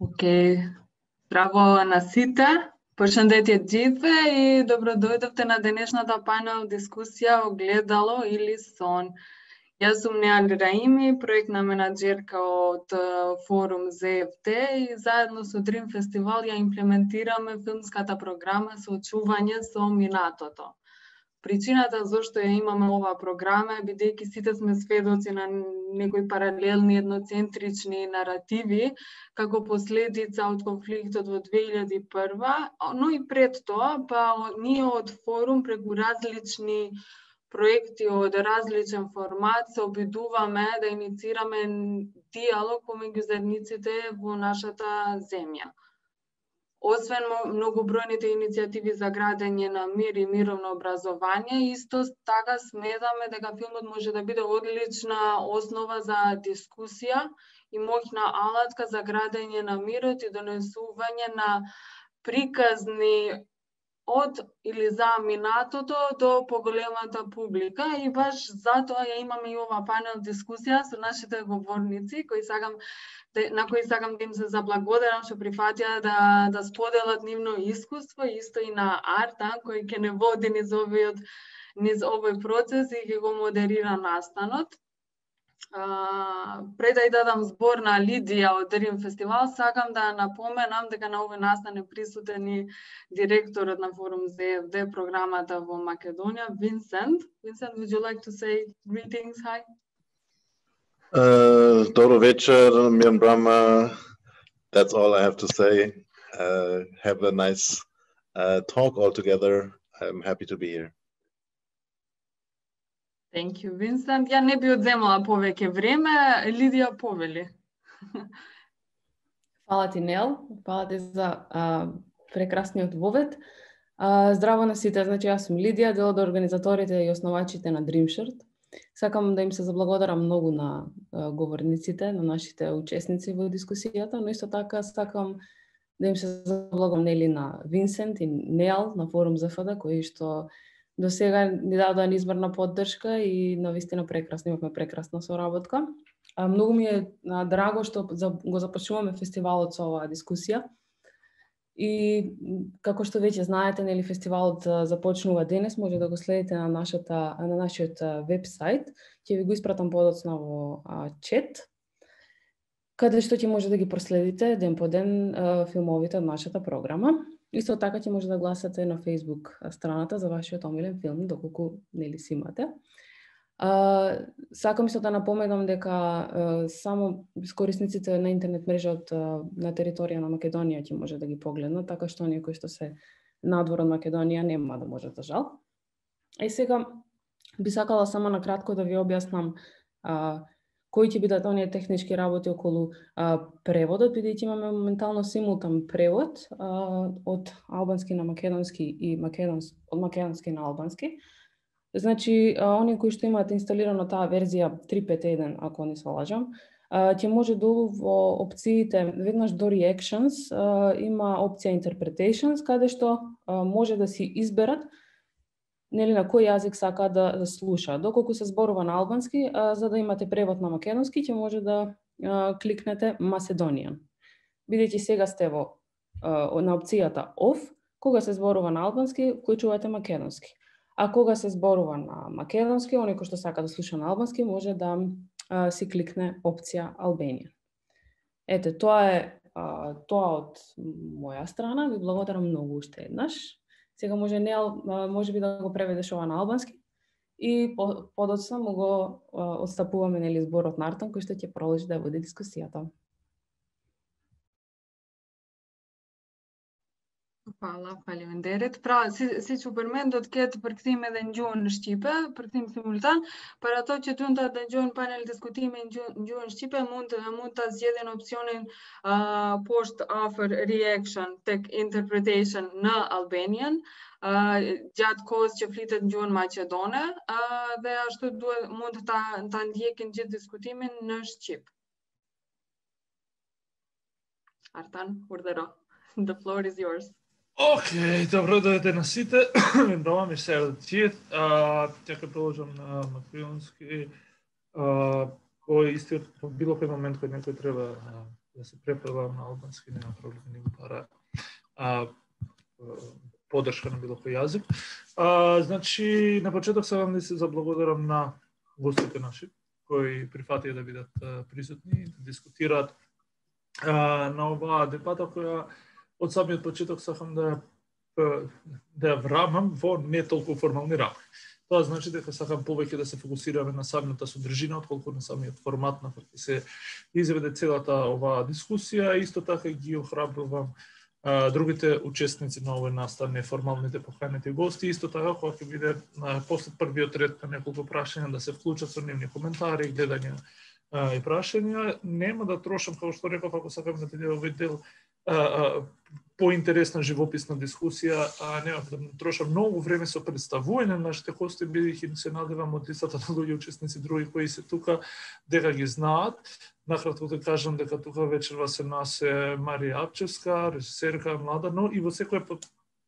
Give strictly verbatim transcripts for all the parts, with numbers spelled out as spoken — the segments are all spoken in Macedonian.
Океј, здраво на сите, пошендете джитве и добро дојдовте на денешната панел дискусија Огледало или сон. Јас сум Неал Раими, проектна менаџерка од форум зет еф те и заедно со Дрим Фестивал ја имплементираме филмската програма Соочување со минатото. Причината зашто ја имаме оваа програма е бидејќи сите сме сведоци на некои паралелни едноцентрични наративи како последица од конфликтот во две илјади и прва, но и пред тоа, па ние од форум преку различни проекти од различен формат се обидуваме да инициираме диалог помеѓу заедниците во нашата земја. Освен многобројните иницијативи за градење на мир и мировно образование, исто така сметаме дека филмот може да биде одлична основа за дискусија и моќна алатка за градење на мирот и донесување на приказни од или за минатото до поголемата публика и баш затоа ја имаме и ова панел дискусија со нашите говорници кои сакам на кои сакам да им се заблагодарам што прифатија да да споделат нивно искуство, исто и на Артан кој ќе не води низ овој низ овој процес и ќе го модерира настанот. Uh, пред да ја дадам збор на Лидија од Дрим Фестивал, сакам да напоменам дека на овој настан е присутен и директорот на форум зет еф те програмата во Македонија, Винсент. Vincent, would you like to say greetings? Hi. Uh, Добро вечер, Мирн Брама. That's all I have to say. Uh, have a nice uh, talk all together. I'm happy to be here. Thank you, Vincent. Ја не би одземала повеќе време. Лидија, повели. Фала ти, Нел. Фала ти за а, прекрасниот вовед. А, здраво на сите. Значи, јас сум Лидија, дел од организаторите и основачите на DreamShirt. Сакам да им се заблагодарам многу на а, говорниците, на нашите учесници во дискусијата, но исто така сакам да им се заблагодарам нели на Винсент и Нел на форум зет еф те, кои што до сега ни дадоа неизмерна поддршка и навистина прекрасно, имавме прекрасна соработка. А, многу ми е а, драго што за, го започнуваме фестивалот со оваа дискусија. И како што веќе знаете, нели фестивалот започнува денес, може да го следите на нашата на нашиот веб-сайт. Ќе ви го испратам подоцна во а, чет, каде што ќе може да ги проследите ден по ден а, филмовите од нашата програма. Исто така ќе може да гласате на Facebook страната за вашиот омилен филм, доколку нели си имате. А, сакам исто да напоменам дека а, само корисниците на интернет мрежа од на територија на Македонија ќе може да ги погледнат, така што оние кои што се надвор од Македонија нема да можат, за жал. И сега би сакала само на кратко да ви објаснам а, кои ќе бидат оние технички работи околу а, преводот, бидејќи имаме моментално симултан превод а, од албански на македонски и македонски од македонски на албански. Значи, а, оние кои што имаат инсталирано таа верзија три пет еден, ако не се лажам, а, ќе може долу во опциите, веднаш до Reactions, а, има опција Interpretations, каде што а, може да си изберат нели на кој јазик сака да, да слуша. Доколку се зборува на албански, а, за да имате превод на македонски, ќе може да а, кликнете Macedonian. Бидејќи сега сте во а, на опцијата Off, кога се зборува на албански, вклучувате македонски. А кога се зборува на македонски, оној кој што сака да слуша на албански, може да а, си кликне опција Albanian. Ете, тоа е а, тоа од моја страна. Ви благодарам многу уште еднаш. Сега може Нел, може би да го преведеш ова на албански и подоцна му го отстапуваме нели зборот на Артан кој што ќе продолжи да води дискусијата. Hvala, faleminderit. Pra, si, si që përmend, do të ketë përkthim edhe në gjuhën shqipe, përkthim simultan, për ato që duan ta dëgjojnë panel diskutime në gjuhën shqipe, mund mund ta zgjedhin opsionin uh, poshtë afër reaction tek interpretation në Albanian, uh, gjatë kohës që flitet në gjuhën maqedone, uh, dhe ashtu duhet mund ta ta ndjekin gjithë diskutimin në shqip. Artan, urdhëro. The floor is yours. Океј, добро дојдете на сите. Добро ми се радијет. Ќе ќе продолжам на македонски. Кој истиот било кој момент кој некој треба да се препевам на албански, нема проблем, не го пара а, поддршка на било кој јазик. А, значи, на почеток сакам да се заблагодарам на гостите наши, кои прифатија да бидат а, присутни, да дискутираат а, на оваа дебата, која од самиот почеток сакам да да ја врамам во не толку формални рамки. Тоа значи дека сакам повеќе да се фокусираме на самата содржина, отколку на самиот формат на кој се изведе целата оваа дискусија. Исто така ги охрабрувам а, другите учесници на овој настан, неформалните поканети гости. Исто така, кога ќе биде а, после првиот ред на неколку прашања, да се вклучат со нивни коментари, гледања а, и прашања. Нема да трошам, како што реков, ако сакам да биде овој дел а, а, поинтересна живописна дискусија, а нема да трошам многу време со представување на нашите гости, бидејќи се надевам од листата на луѓе учесници други кои се тука дека ги знаат. Накратко да кажам дека тука вечерва се нас е Марија Апчевска, режисерка млада, но и во секое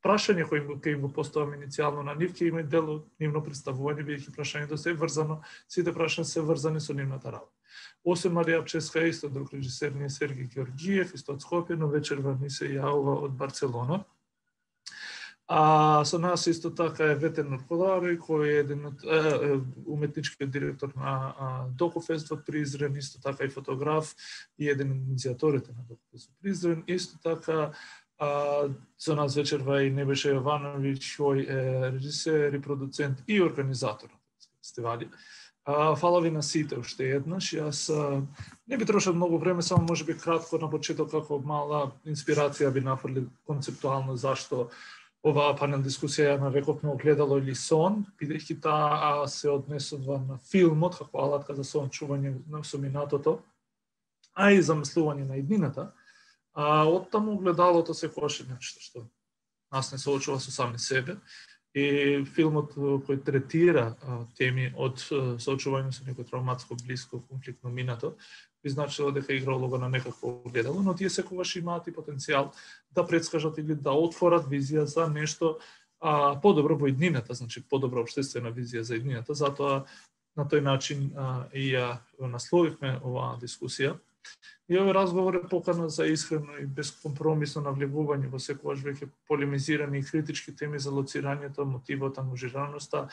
прашање кој им, кој им го поставам иницијално на нив, ќе има дел од нивно представување, бидејќи прашањето се врзано, сите прашања се врзани со нивната работа. Осем Марија Апчевска е исто друг режисер, ни е Сергеј Георгиев, исто од Скопје, но вечерва ни се јавува од Барселона. А со нас исто така е Ветер Нурколари, кој е еден од е, уметничкиот директор на Докуфест во Призрен, исто така и фотограф и еден од иницијаторите на Докуфест во Призрен. Исто така а, со нас вечерва и Небеша Јовановиќ, кој е режисер и продуцент и организатор на фестивали. А, фала ви на сите уште еднаш. Јас а, не би трошил многу време, само можеби кратко на почеток како мала инспирација би нафрли концептуално зашто оваа панел дискусија ја нарековме огледало или сон, бидејќи таа се однесува на филмот како алатка за сончување со минатото, а и замислување на иднината. А оттаму огледалото секогаш е нешто што нас не соочува со сами себе. И филмот кој третира а, теми од соочување со некој травматско, блиско, конфликтно минато, би значило дека игра улога на некакво огледало, но тие секогаш имаат и потенцијал да предскажат или да отворат визија за нешто а, подобро во иднината, значи подобра општествена визија за иднината, затоа на тој начин а, и ја насловивме оваа дискусија. И овој разговор е покана за искрено и безкомпромисно навлегување во секогаш веќе полемизирани и критички теми за лоцирањето, мотивот, ангажираноста,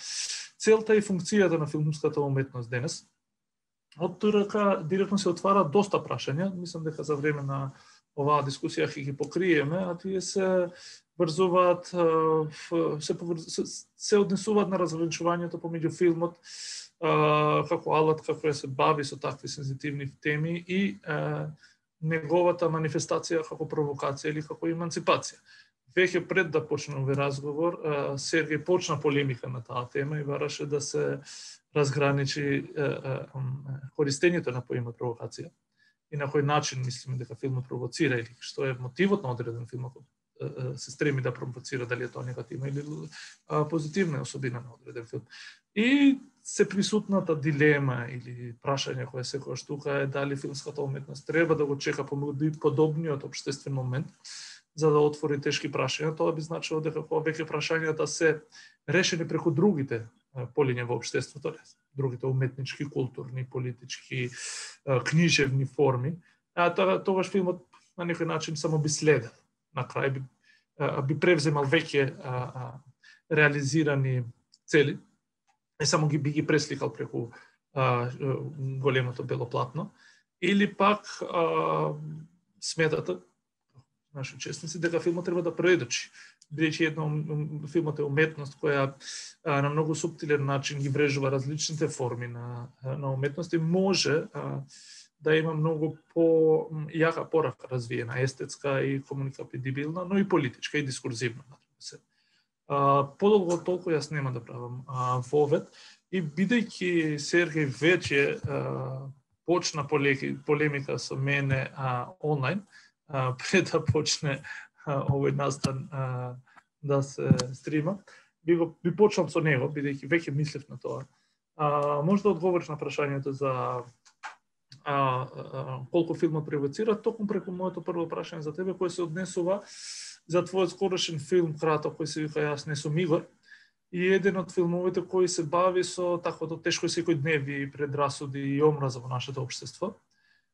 целта и функцијата на филмската уметност денес. Од тука директно се отвара доста прашања, мислам дека за време на оваа дискусија ќе ги покриеме, а тие се врзуваат, се, се, се однесуваат на разграничувањето помеѓу филмот како алатка која се бави со такви сензитивни теми и а, неговата манифестација како провокација или како еманципација. Веќе пред да почне овој разговор, а, Сергеј почна полемика на таа тема и бараше да се разграничи а, а, користењето на поимот провокација и на кој начин мислиме дека филмот провоцира или што е мотивот на одреден филм ако се стреми да провоцира, дали е тоа негативна или а, позитивна особина на одреден филм. И се присутната дилема или прашање која секогаш тука е дали филмската уметност треба да го чека подобниот општествен момент за да отвори тешки прашања. Тоа би значило дека кога веќе прашањата се решени преку другите полиња во општеството, другите уметнички, културни, политички, книжевни форми, а тогаш филмот на некој начин само би следел. На крај би, би превземал веќе реализирани цели и само ги би ги пресликал преку а, големото бело платно, или пак а, сметата наши учесници дека филмот треба да предочи, бидејќи едно филмот е уметност која а, на многу суптилен начин ги врежува различните форми на на уметност и може а, да има многу по јака порака развиена, естетска и комуникабилна, но и политичка и дискурзивна. Uh, подолго од толку јас нема да правам uh, вовед и бидејќи Сергеј веќе uh, почна полеки, полемика со мене uh, онлайн, uh, пред да почне uh, овој настан uh, да се стрима, би, го, би почнал со него, бидејќи веќе мислев на тоа. Uh, може да одговориш на прашањето за uh, uh, колку филмот провоцира, токму преку моето прво прашање за тебе, кој се однесува за твојот скорошен филм краток кој се вика Јас не сум Игор и еден од филмовите кои се бави со таквото тешко секојдневие и предрасуди и омраза во нашето општество.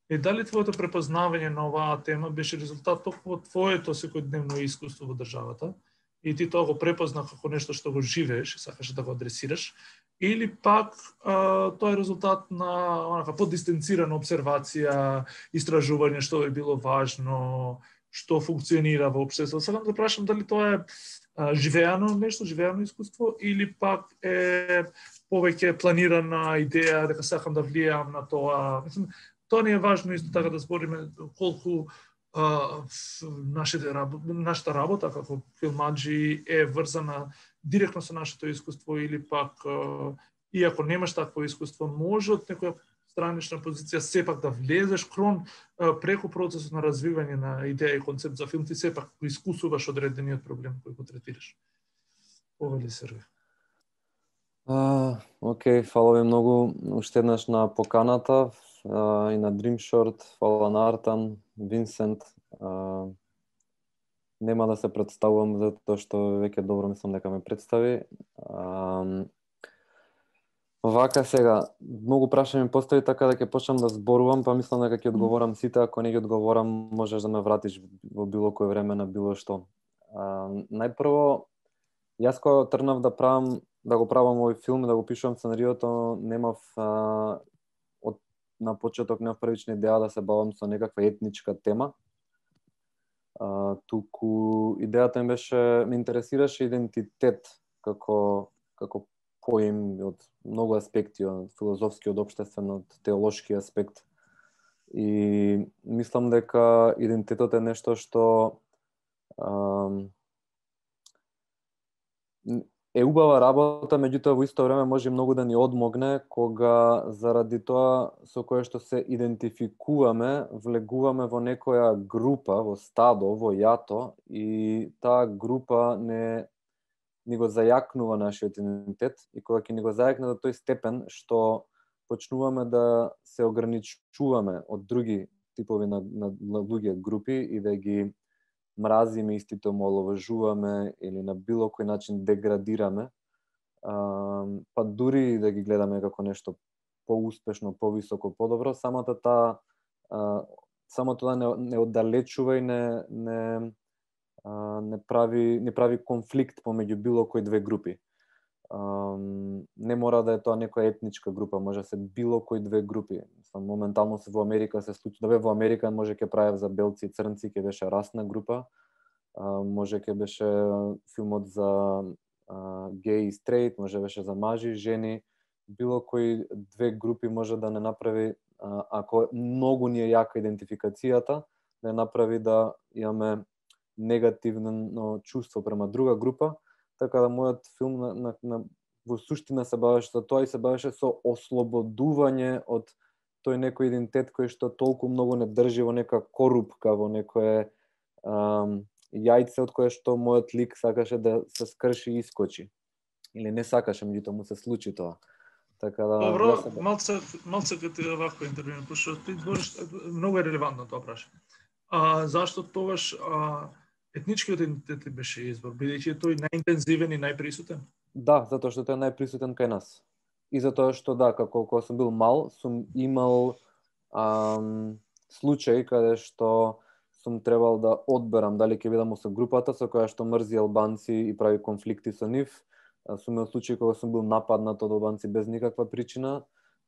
И дали твоето препознавање на оваа тема беше резултат токму од твоето секојдневно искуство во државата и ти тоа го препозна како нешто што го живееш и сакаш да го адресираш, или пак а, тоа е резултат на онака поддистенцирана обсервација, истражување што е било важно, што функционира во општеството. Сакам да прашам дали тоа е а, живеано нешто, живеано искуство, или пак е повеќе планирана идеја дека сакам да влијам на тоа. Мислам, тоа не е важно исто така да збориме колку а, нашите, нашата работа како филмаджи е врзана директно со нашето искуство, или пак а, иако немаш такво искуство, може од некоја странична позиција сепак да влезеш крон а, преку процесот на развивање на идеја и концепт за филм, ти сепак искусуваш одредениот проблем кој го третираш. Ова ли Сергеј? Uh, Океј, okay, фала ви многу уште еднаш на поканата uh, и на Dream Short, фала на Артан, Винсент. Uh, нема да се представувам затоа што веќе добро мислам дека ме представи. Uh, вака сега, многу прашања ми постави така да ќе почнам да зборувам, па мислам дека ќе одговорам сите, ако не ги одговорам можеш да ме вратиш во било кој време на било што. Uh, најпрво, јас кога тргнав да правам да го правам овој филм и да го пишувам сценариото, немав а, од на почеток немав првична идеја да се бавам со некаква етничка тема. А, туку идејата ми беше, ме интересираше идентитет како како поим од многу аспекти, од филозофски, од општествен, од теолошки аспект. И мислам дека идентитетот е нешто што а, е убава работа, меѓутоа во исто време може многу да ни одмогне кога заради тоа со кое што се идентификуваме, влегуваме во некоја група, во стадо, во јато, и таа група не ни го зајакнува нашиот идентитет, и кога ќе ни го зајакне до тој степен што почнуваме да се ограничуваме од други типови на, на, на луѓе групи и да ги мразиме, истите омаловажуваме или на било кој начин деградираме, а, па дури да ги гледаме како нешто поуспешно, повисоко, подобро, самата таа а, само тоа не, не оддалечува и не не а, не прави не прави конфликт помеѓу било кој две групи. А, не мора да е тоа некоја етничка група, може да се било кој две групи. Моментално се во Америка се случи, да бе во Америка може ќе правев за белци и црнци, ќе беше расна група, а, може ќе беше филмот за а, геј и стрейт, може беше за мажи и жени, било кои две групи може да не направи, а, ако многу ни е јака идентификацијата, да направи да имаме негативно чувство према друга група, така да мојот филм на, на, на, во суштина се бавеше со тоа и се бавеше со ослободување од тој некој идентитет кој што толку многу не држи во нека корупка, во некое ам, јајце од кое што мојот лик сакаше да се скрши и искочи. Или не сакаше, меѓутоа му се случи тоа. Така да Добро, се... малце малце кога ти вако интервју, пошто ти збориш многу е релевантно тоа прашање. А зашто тогаш а, етничкиот идентитет беше избор, бидејќи тој најинтензивен и најприсутен? Да, затоа што тој е најприсутен кај нас. И затоа што да, како кога сум бил мал, сум имал ам, случај каде што сум требал да одберам дали ќе бидам со групата со која што мрзи албанци и прави конфликти со нив. Сум имал случај кога сум бил нападнат од албанци без никаква причина.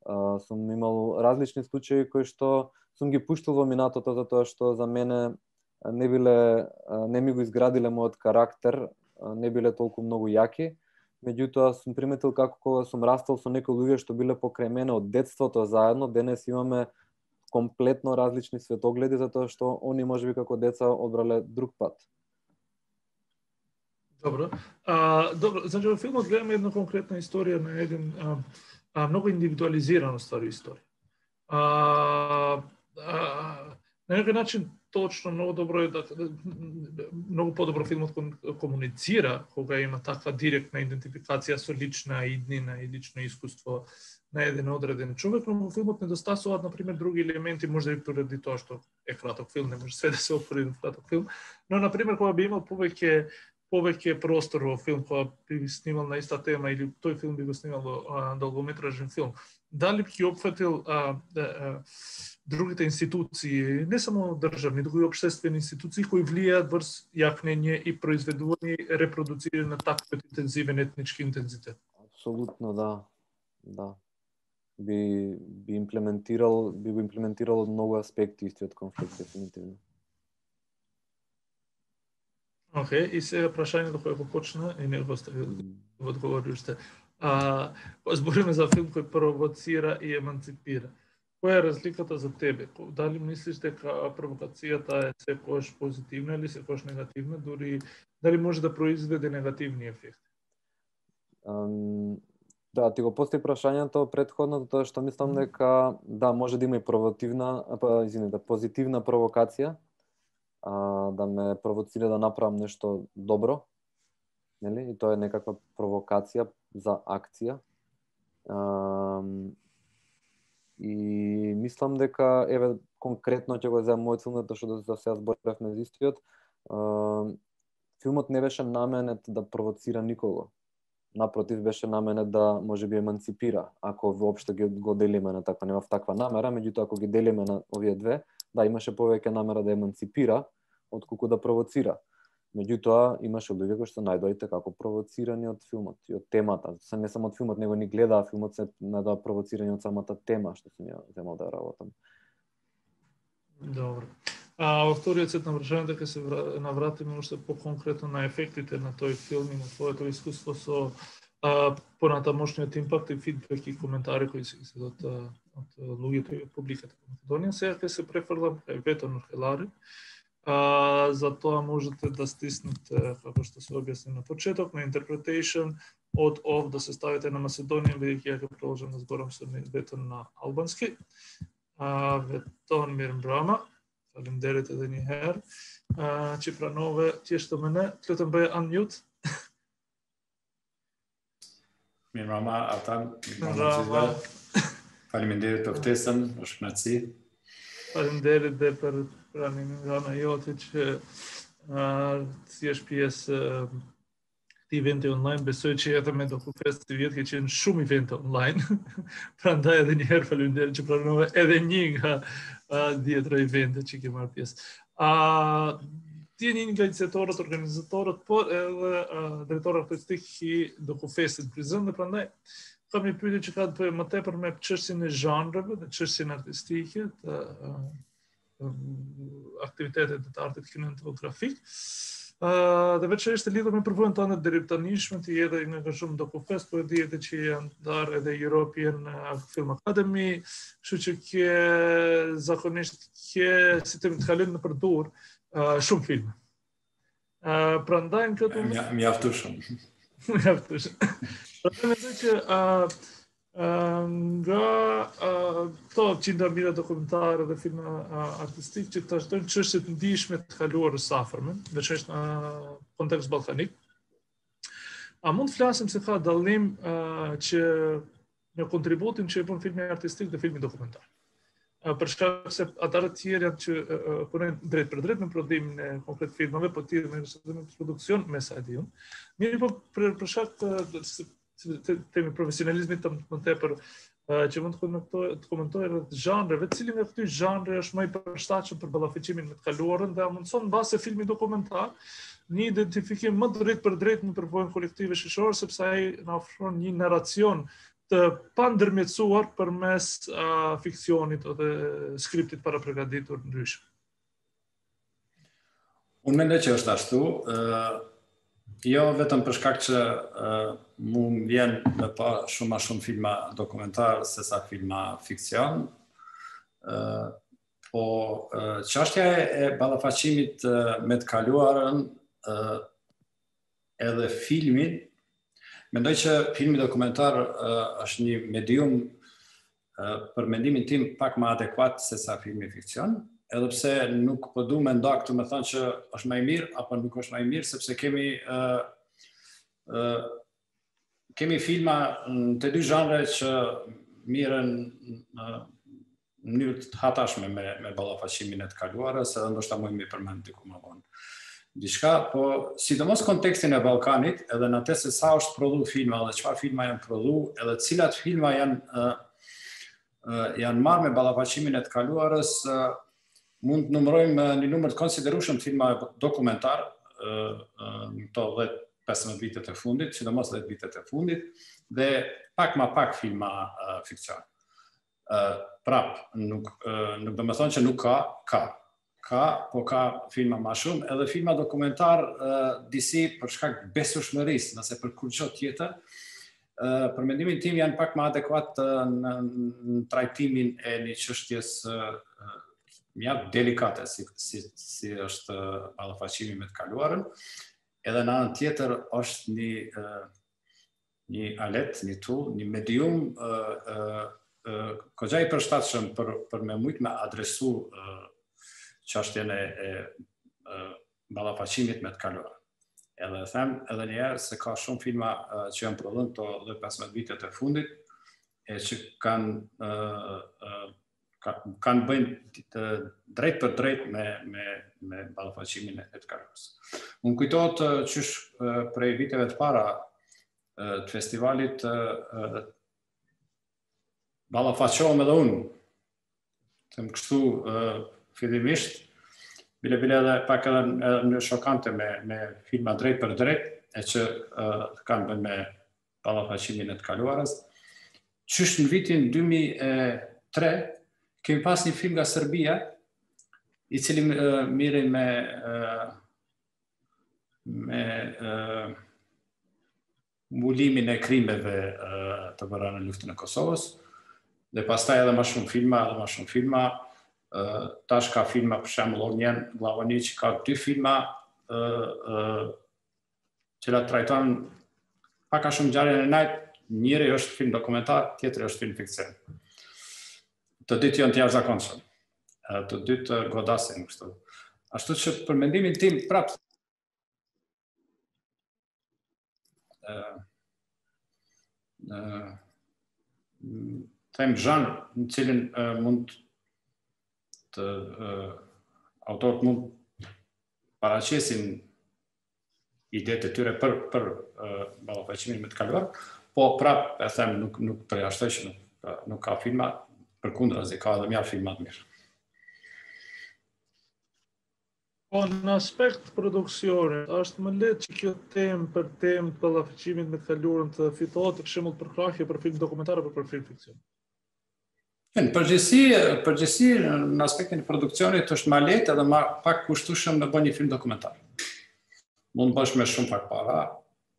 А, сум имал различни случаи кои што сум ги пуштил во минатото затоа што за мене не биле, не ми го изградиле мојот карактер, не биле толку многу јаки. Меѓутоа сум приметил како кога сум растал со некои луѓе што биле покрај мене од детството заедно, денес имаме комплетно различни светогледи затоа што они можеби како деца одбрале друг пат. Добро. А, добро, значи во филмот гледаме една конкретна историја на еден а, а, многу индивидуализирано стари историја. А, а, на некој начин точно многу добро е да многу подобро филмот комуницира кога има таква директна идентификација со лична иднина и лично искуство на еден одреден човек, но во филмот недостасуваат на пример други елементи, може би поради тоа што е краток филм, не може све да се отвори во краток филм, но на пример кога би имал повеќе повеќе простор во филм која би снимал на иста тема или тој филм би го снимал во долгометражен филм. Дали би ги опфатил а, а, другите институции, не само државни, туку и општествени институции кои влијаат врз јакнење и произведување и репродуцирање на таков интензивен етнички интензитет? Апсолутно да. Да. Би би имплементирал, би го имплементирал од многу аспекти истиот конфликт дефинитивно. Океј, okay, и сега прашањето кое го почна и не го оставил да одговори уште. А, збориме за филм кој провоцира и еманципира. Која е разликата за тебе? Дали мислиш дека провокацијата е секојаш позитивна или секојаш негативна, дури дали може да произведе негативни ефекти? Um, да, ти го постави прашањето претходно, тоа што мислам дека да, може да има и провокативна, па извини, да позитивна провокација, а, да ме провоцира да направам нешто добро, нели? И тоа е некаква провокација за акција. А, и мислам дека еве конкретно ќе го земам мојот филм, тоа што за сега зборевме за истиот. А, филмот не беше наменет да провоцира никого. Напротив, беше наменет да може би еманципира, ако воопшто ги го делиме на таква, немав таква намера, меѓутоа ако ги делиме на овие две, да, имаше повеќе намера да еманципира отколку да провоцира. Меѓутоа имаше луѓе кои што најдоите како провоцирани од филмот и од темата. Се не само од филмот, него ни гледаа филмот, се најдоа провоцирани од самата тема што сум ја земал да работам. Добро. А во вториот сет на прашањата ќе се навратиме уште по-конкретно на ефектите на тој филм и на твоето искуство со а, понатамошниот импакт и фидбек и коментари кои се од, од луѓето и од публиката во Македонија. Сега ќе се префрлам кај Вето Нурхелари. А, за тоа можете да стиснете, како што се објасни на почеток, на interpretation од ов да се ставите на Macedonian, бидејќи ја ќе продолжам да зборам со Вето на албански. А, Вето Мирмбрама. Фалемдерите да ни хер. Че пранове, тие што мене, клетам бе unmute. Mirmama, Atan, Mirmama, faleminderit ftesën, është kënaqësi. Faleminderit dhe për pranimin jote që si është pjesë këtij eventi online. Besoj që edhe me DokuFest të vjetë ke qenë shumë evente online. Prandaj edhe një herë faleminderit që pranove edhe një nga dhjetra evente që ke marrë pjesë. Ti je një nga iniciatorët, organizatorët, por edhe drejtori artistik i DokuFestit Prizren, dhe prandaj kam një pyetje që ka të bëjë më tepër me çështjen e zhanreve dhe çështjen artistike, të aktivitetet të artit kinematografik. Dhe veçanërisht të lidhur me përvojën tonë deri tanishme, ti je edhe nga shumë DokuFest, po e di edhe që janë ndarë edhe European Film Academy, kështu që ke zakonisht ke si të kalojnë në përdor shumë filma. Prandaj në këtë Mjaftueshëm. Mjaftueshëm. Prandaj mendoj që nga këto qindra mira dokumentare dhe filma artistik që të ashtojnë çështjet ndihshme të kaluarës së afërme, veçanërisht në kontekst ballkanik. A mund të flasim se ka dallim që në kontributin që e bën filmi artistik dhe filmi dokumentar? Për shkak se ata të tjerë janë që punojnë drejt për drejt në prodhimin e konkret filmave, po tjerë në produksion me sa e di unë. Mirë, po për, për shkak të temi profesionalizmit të më tepër që mund të komentoj rreth zhanreve, cili nga këty zhanre është më i përshtatshëm për ballafiqimin me të kaluarën dhe a mundson mbase filmi dokumentar një identifikim më drejt për drejt në përvojën kolektive shoqërore, sepse ai na ofron një narracion të pandërmjetësuar përmes uh, fiksionit ose skriptit para përgatitur ndryshe. Unë mendoj që është ashtu, uh, jo vetëm për shkak që uh, mu më vjen me pa shumë ma shumë filma dokumentar se sa filma fikcion, uh, po uh, çështja e ballafaqimit uh, me të kaluarën uh, edhe filmin. Mendoj që filmi dokumentar uh, është një medium uh, për mendimin tim pak më adekuat se sa filmi fikcion, edhe pse nuk po du me nda këtu me thënë që është më i mirë apo nuk është më i mirë, sepse kemi uh, uh, kemi filma në të dy zhanre që mirën uh, në mënyrë të hatashme me, me ballafaqimin e të kaluarës, edhe ndoshta më i përmend diku më vonë. дишка, по сидомос контексти на Балканит, edhe на те се са ошт проду филма, edhe çfarë filma janë produ, edhe cilat filma janë uh, uh, janë marrë me ballafaqimimin e të kaluarës, uh, mund të numërojmë një numër të konsiderueshëm të filmave dokumentar, uh, uh, këto dhjetë pesëmbëdhjetë vitet e fundit, sidomos dhjetë vitet e fundit, dhe pak ma pak filma uh, fikcion. Uh, prap, nuk, uh, nuk do me thonë që nuk ka, ka. Ka, po ka filma ma shumë, edhe filma dokumentar uh, disi për shkak besueshmërisë, nëse për kurrë tjetër, uh, për mendimin tim janë pak më adekuat uh, në, në trajtimin e një çështjes uh, mjaft delikate, si, si, si është uh, ballafaqimi me të kaluarën, edhe në anën tjetër është një, uh, një alet, një tool, një medium uh, uh, uh, kogja i përshtatshëm për, për me mujt me adresu uh, çështjen e, e, e ballafaqimit me të kaluarën. Edhe them edhe një herë se ka shumë filma uh, që janë prodhuar këto dhjetë pesëmbëdhjetë vitet e fundit e që kanë uh, uh, ka, kanë bëjnë drejt për drejt me me me ballafaqimin e të kaluarës. Unë kujtohet uh, qysh uh, prej viteve të para uh, të festivalit uh, uh, ballafaqohem edhe unë. Them kështu uh, fillimisht, bile bile edhe pak edhe në shokante me, me filma drejt për drejt, e që uh, kanë bën me ballafaqimin e të kaluarës. Qysh në vitin dy mijë e tre, kemi pas një film nga Serbia, i cili uh, mirë me, uh, me uh, mbulimin e krimeve uh, të bëra në luftën e Kosovës, dhe pastaj edhe më shumë filma, edhe më shumë filma, Uh, tash ka filma për shembull Ognjen Glavoni që ka dy filma uh, uh, që la trajton pak a shumë ngjarjen e najt, njëri është film dokumentar, tjetri është film fikcion. Të dytë janë të jashtëzakonshëm. Uh, të dytë uh, godasin kështu. Ashtu që për mendimin tim prap uh, uh, them zhanr në cilin uh, mund të uh, autorët mund paraqesin idetë e tyre për për uh, ballafaqimin me të kaluar, po prap e them nuk nuk përjashtoj që nuk, nuk ka filma, përkundrazi ka edhe mjaft filma të mirë. Po në aspekt produksione, është më lehtë që kjo temë për temë të ballafaqimit me të kaluarën të fitohet për shembull për krahje për film dokumentar apo për film fikcion. Në përgjithësi, përgjithësi në aspektin e produksionit është më lehtë edhe më pak kushtueshëm me bën një film dokumentar. Mund bësh me shumë pak para.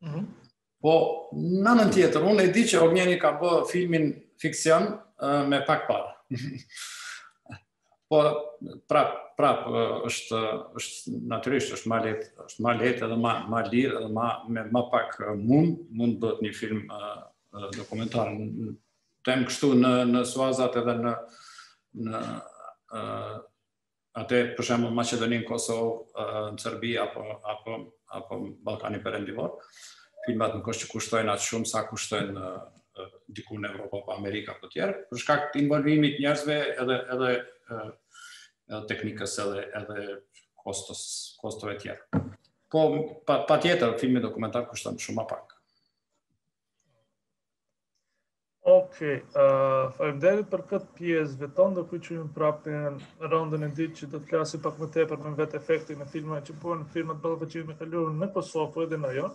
Mm-hmm. Po në anën tjetër, unë e di që Ognjeni ka bë filmin fikcion uh, me pak para. Po prap prap uh, është është natyrisht është më lehtë, është më lehtë edhe më më lirë edhe më me më pak uh, mund mund bëhet një film uh, uh, dokumentar. Tem kështu në në Suazat edhe në në uh, atë për shembull Maqedoninë, Kosovë, uh, në Serbi apo apo apo Ballkani Perëndimor. Filmat nuk është që kushtojnë atë shumë sa kushtojnë uh, uh, diku në Evropë apo Amerikë apo tjerë, për shkak të involvimit të njerëzve edhe edhe uh, edhe teknikës edhe edhe kostos kostove të tjera. Po patjetër pa filmi dokumentar kushton shumë më pak. Okej, uh, faleminderit për këtë pjesë veton, do kujtojmë prapë në rondën e dytë që do të flasim pak më tepër me vetë efektin e filmave që bëhen filmat ballafaqimi me kaluarën në Kosovë po edhe në ajo.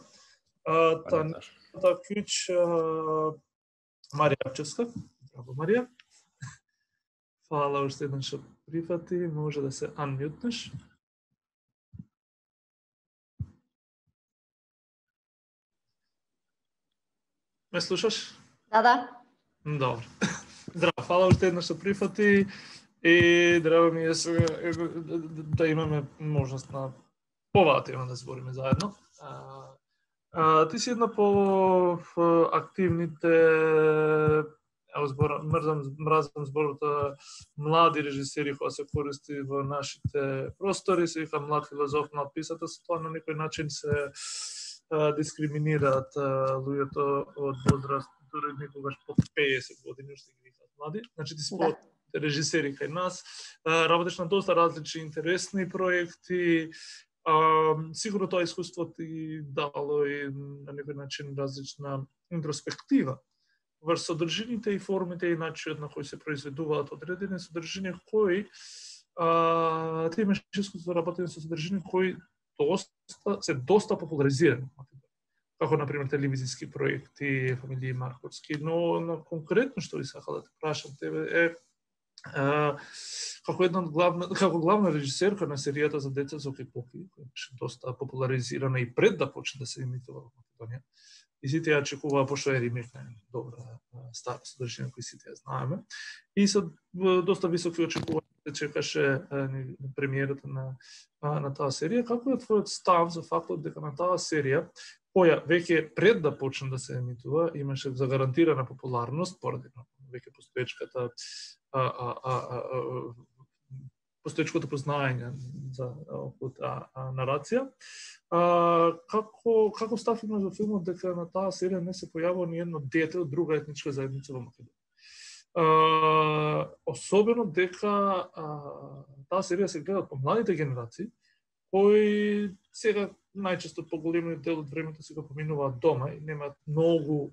Uh, tani ta kyç uh, Maria Çeska. Bravo Maria. Hvala što ste što prihvati, može da se unmute-neš. Me slušaš? Da, da. Dobro. Здраво, hvala още еднаш што прифати и драго ми е да имаме можност на поваа тема да збориме заедно. А, а, ти си една по активните, ево збор, мрзам, мразам зборот млади режисери која се користи во нашите простори, се вика млад филозоф, млад писател, се тоа на некој начин се а, дискриминираат а, луѓето од возраст дори некогаш под песет години уште ги викаат млади. Значи ти според да. режисери кај нас, работиш на доста различни интересни проекти, А, сигурно тоа искуство ти дало и на некој начин различна интроспектива врз содржините и формите и начинот на кој се произведуваат одредени содржини кои а, ти имаш искуство да работи со содржини кои доста, се доста популаризирани. Како, например, телевизиски проекти, фамилии Марковски, но на конкретно што ви сакал да те прашам тебе е а, како една од главна, како главна режисерка на серијата за деца Зоки Поки, која беше доста популаризирана и пред да почне да се емитува во Македонија. И сите ја чекуваа, пошто е ремейк на добра стара содржина кој сите ја знаеме. И со доста високи очекувања се чекаше премиерата на, на таа серија. Како е твојот став за фактот дека на таа серија, која веќе пред да почне да се емитува, имаше загарантирана популарност поради веќе постоечката а, а, а, а, постоечкото познаење за околу таа нарација. А, како како став има за филмот дека на таа серија не се појавува ни едно дете од друга етничка заедница во Македонија? Uh, особено дека uh, таа серија се гледа од помладите генерации, кои сега најчесто поголемиот дел од времето се го поминуваат дома и немаат многу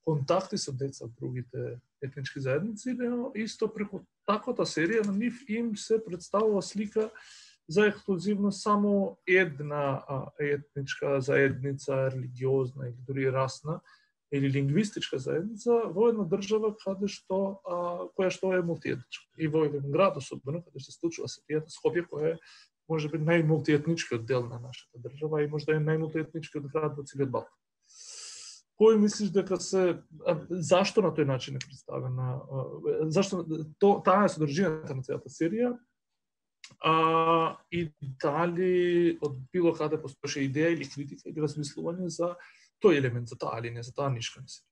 контакти со деца од другите етнички заедници, но исто преку таквата серија на нив им се представува слика за ексклузивно само една uh, етничка заедница, религиозна или дури расна, или лингвистичка заедница во една држава каде што а, која што е мултиетничка. И во еден град особено каде се случува серијата Скопје, која е можеби најмултиетничкиот дел на нашата држава и можда е најмултиетничкиот град во целиот Балкан. Кој мислиш дека се а, зашто на тој начин е представена, а, зашто то, таа е содржината на целата серија? А, и дали од било каде постоеше идеја или критика или размислување за тој елемент, за таа линија, за таа нишка на серија?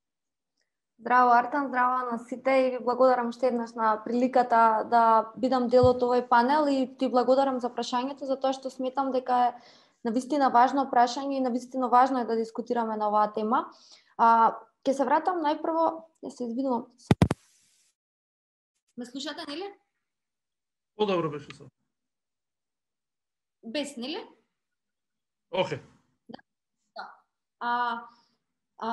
Здраво, Артан, здраво на сите и ви благодарам уште еднаш на приликата да бидам дел од овој панел и ти благодарам за прашањето, за тоа што сметам дека е навистина важно прашање и навистина важно е да дискутираме на оваа тема. А, ќе се вратам најпрво, ја се извинувам. Ме слушате, нели? Подобро беше со. Без, нели? Океј. Да. Да. А, а,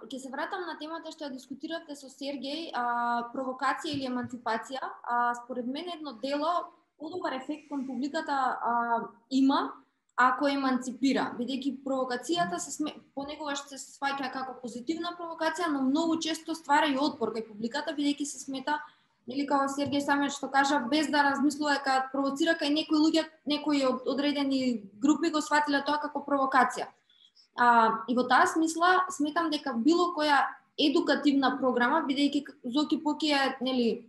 ќе се вратам на темата што ја дискутиравте со Сергеј, а, провокација или еманципација. А, според мен едно дело подобар ефект кон публиката а, има ако еманципира, бидејќи провокацијата се сме... понекогаш се сваќа како позитивна провокација, но многу често ствара и отпор кај публиката, бидејќи се смета, или како Сергеј самиот што кажа, без да размислува дека провоцира кај некои луѓе, некои одредени групи го сватиле тоа како провокација. А, и во таа смисла сметам дека било која едукативна програма, бидејќи Зоки Поки е, нели,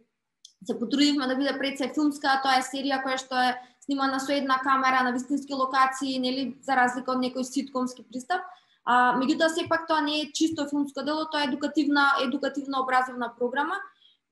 се потрудивме да биде пред се филмска, тоа е серија која што е снимана со една камера на вистински локации, нели, за разлика од некој ситкомски пристап. А, меѓутоа сепак тоа не е чисто филмско дело, тоа е едукативна, едукативна образовна програма.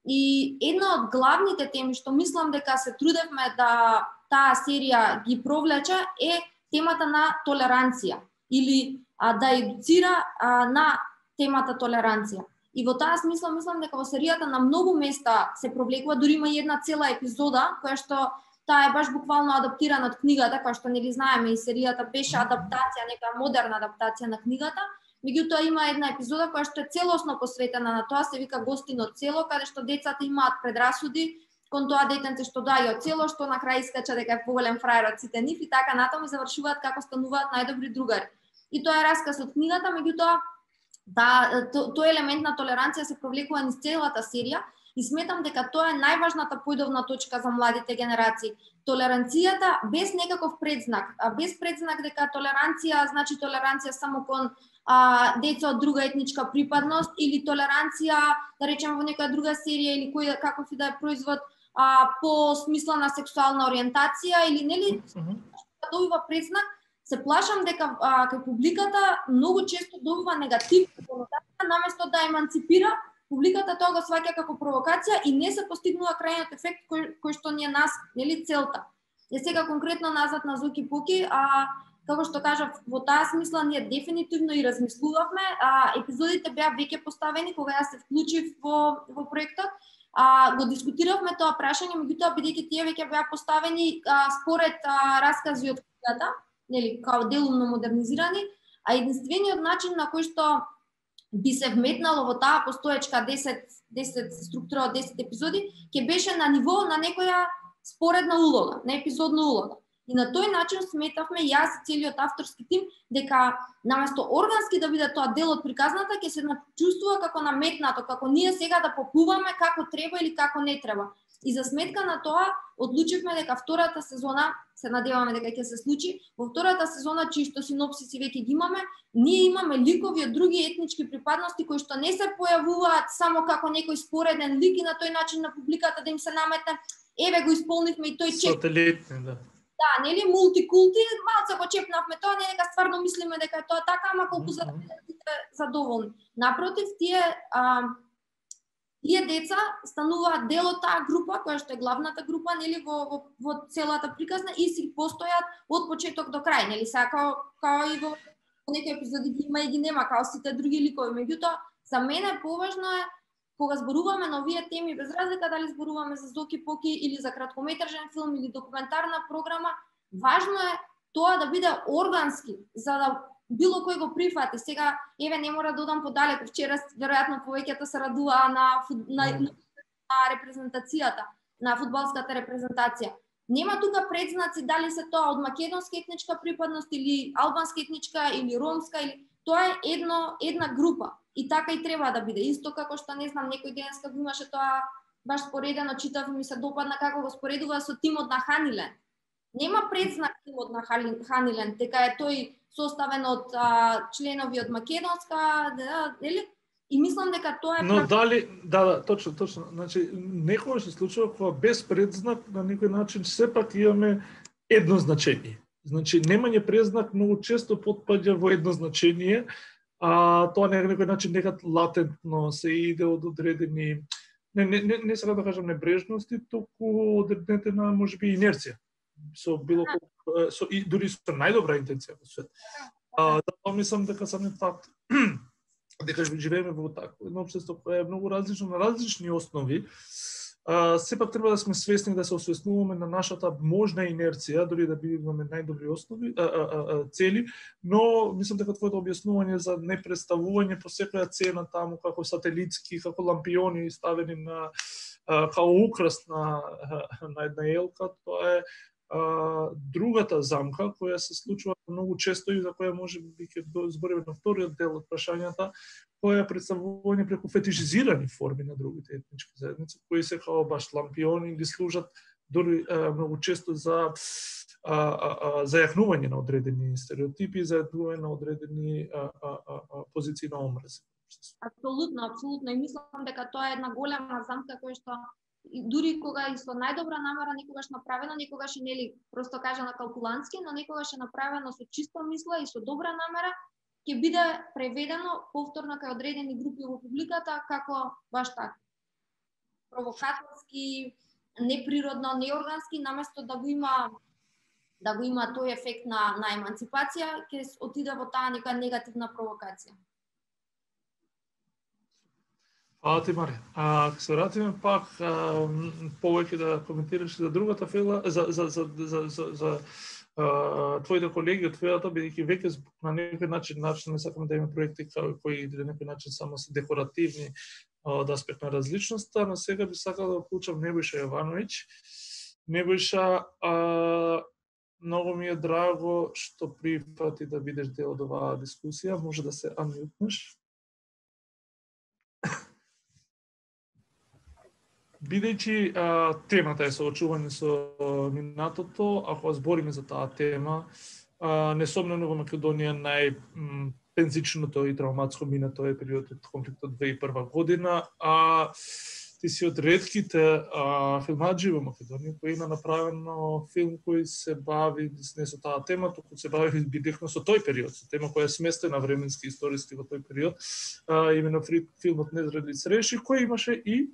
И една од главните теми што мислам дека се трудевме да таа серија ги провлече е темата на толеранција или а, да едуцира а, на темата толеранција. И во таа смисла мислам дека во серијата на многу места се провлекува, дури има и една цела епизода која што таа е баш буквално адаптирана од книгата, која што нели знаеме и серијата беше адаптација, нека модерна адаптација на книгата. Меѓутоа има една епизода која што е целосно посветена на тоа, се вика Гостино село, каде што децата имаат предрасуди кон тоа детенце што доаѓа од село, што на крај искача дека е поголем фраер од сите нив и така натаму и завршуваат како стануваат најдобри другари. И тоа е расказ од книгата, меѓутоа да, то, тој елемент на толеранција се провлекува низ целата серија и сметам дека тоа е најважната појдовна точка за младите генерации. Толеранцијата без некаков предзнак, а без предзнак дека толеранција значи толеранција само кон а, деца од друга етничка припадност или толеранција, да речеме во некоја друга серија или кој каков и да е производ а, по смисла на сексуална ориентација или нели да добива предзнак. Се плашам дека а, кај публиката многу често добива негативна конотација, наместо да еманципира, публиката тоа го сваќа како провокација и не се постигнува крајниот ефект кој, кој што ни е нас, нели, целта. Е сега конкретно назад на Зоки Поки, а како што кажав, во таа смисла ние дефинитивно и размислувавме, а епизодите беа веќе поставени кога ја се вклучив во во проектот. А, го дискутиравме тоа прашање, меѓутоа бидејќи тие веќе беа поставени а, според а, раскази од книгата, нели, као делумно модернизирани, а единствениот начин на кој што би се вметнало во таа постоечка десет, десет структура од десет епизоди, ќе беше на ниво на некоја споредна улога, на епизодна улога. И на тој начин сметавме јас и целиот авторски тим дека наместо органски да биде тоа дел од приказната, ќе се чувствува како наметнато, како ние сега да попуваме како треба или како не треба. И за сметка на тоа одлучивме дека втората сезона, се надеваме дека ќе се случи, во втората сезона чисто синопсиси веќе ги имаме, ние имаме ликови од други етнички припадности кои што не се појавуваат само како некој спореден лик и на тој начин на публиката да им се наметне, еве го исполнивме и тој чек. Сателитни, да. Да, нели мултикулти, малце го чепнавме тоа, не дека стварно мислиме дека е тоа така, ама колку за да бидете задоволни. Напротив, тие а, тие деца стануваат дел од таа група, која што е главната група, нели во во, во целата приказна и си постојат од почеток до крај, нели са као као и во некои епизоди ги има и ги нема, као сите други ликови. Меѓутоа, за мене поважно е кога зборуваме на овие теми, без разлика дали зборуваме за Зоки Поки или за краткометражен филм или документарна програма, важно е тоа да биде органски, за да било кој го прифати. Сега, еве, не мора да одам подалеку, вчера веројатно повеќето се радуваа на, на, на репрезентацијата, на фудбалската репрезентација. Нема тука предзнаци дали се тоа од македонска етничка припадност или албанска етничка или ромска, или тоа е едно една група. И така и треба да биде. Исто како што не знам, некој денеска го имаше тоа баш споредено, читав и ми се допадна како го споредува со тимот на Ханилен. Нема предзнак тимот на Ханилен, дека е тој составен од а, членови од македонска, да, нели? И мислам дека тоа е Но прав... дали, да, да, точно, точно. Значи, некогаш се случува кога без предзнак на некој начин сепак имаме едно значење. Значи, немање предзнак многу често потпаѓа во едно значење, а тоа на некој начин некад латентно се иде од одредени, не, не, не, не сега да кажам небрежности, туку одредена можеби инерција. Со било колку, со и дури со најдобра интенција во свет. А да мислам дека самиот факт дека живееме во такво едно општество кое е многу различно на различни основи, а, сепак треба да сме свесни да се освестнуваме на нашата можна инерција, дори да би имаме најдобри основи, а, а, а, цели, но мислам дека твоето објаснување за непредставување по секоја цена таму како сателитски, како лампиони ставени на а, како украс на, на една елка, тоа е а, другата замка која се случува многу често и за која може би ќе збориме на вториот дел од прашањата, која е представување преку фетишизирани форми на другите етнички заедници, кои се као баш лампиони или служат дори а, многу често за а, а, а, зајакнување на одредени стереотипи, зајакнување на одредени а, а, а, позиции на омраз. Апсолутно, апсолутно. И мислам дека тоа е една голема замка која што и дури кога и со најдобра намера некогаш направено, некогаш и нели просто кажано калкулантски, но некогаш е направено со чиста мисла и со добра намера, ќе биде преведено повторно кај одредени групи во публиката како баш така. Провокаторски, неприродно, неоргански, наместо да го има да го има тој ефект на на еманципација, ќе отиде во таа нека негативна провокација. Фала ти, Мари. А ќе се вратиме пак а, повеќе да коментираш за другата фила, за за за за за, за а, твоите колеги од филата, бидејќи веќе на некој начин начин не сакаме да имаме проекти кои на некој начин само се декоративни од аспект на различноста, но сега би сакал да вклучам Небојша Јовановиќ. Небојша, а, многу ми е драго што прифати да бидеш дел од оваа дискусија, може да се анмјутнеш. Бидејќи а, темата е соочување со минатото, ако збориме за таа тема, а, несомнено во Македонија најпензичното и травматско минато е периодот од конфликтот две илјади и прва година, а ти си од ретките а, филмаджи во Македонија кој има направено филм кој се бави не со таа тема, туку се бави директно со тој период, со тема која е сместена временски историски во тој период, а, именно филмот Незрели среши, кој имаше и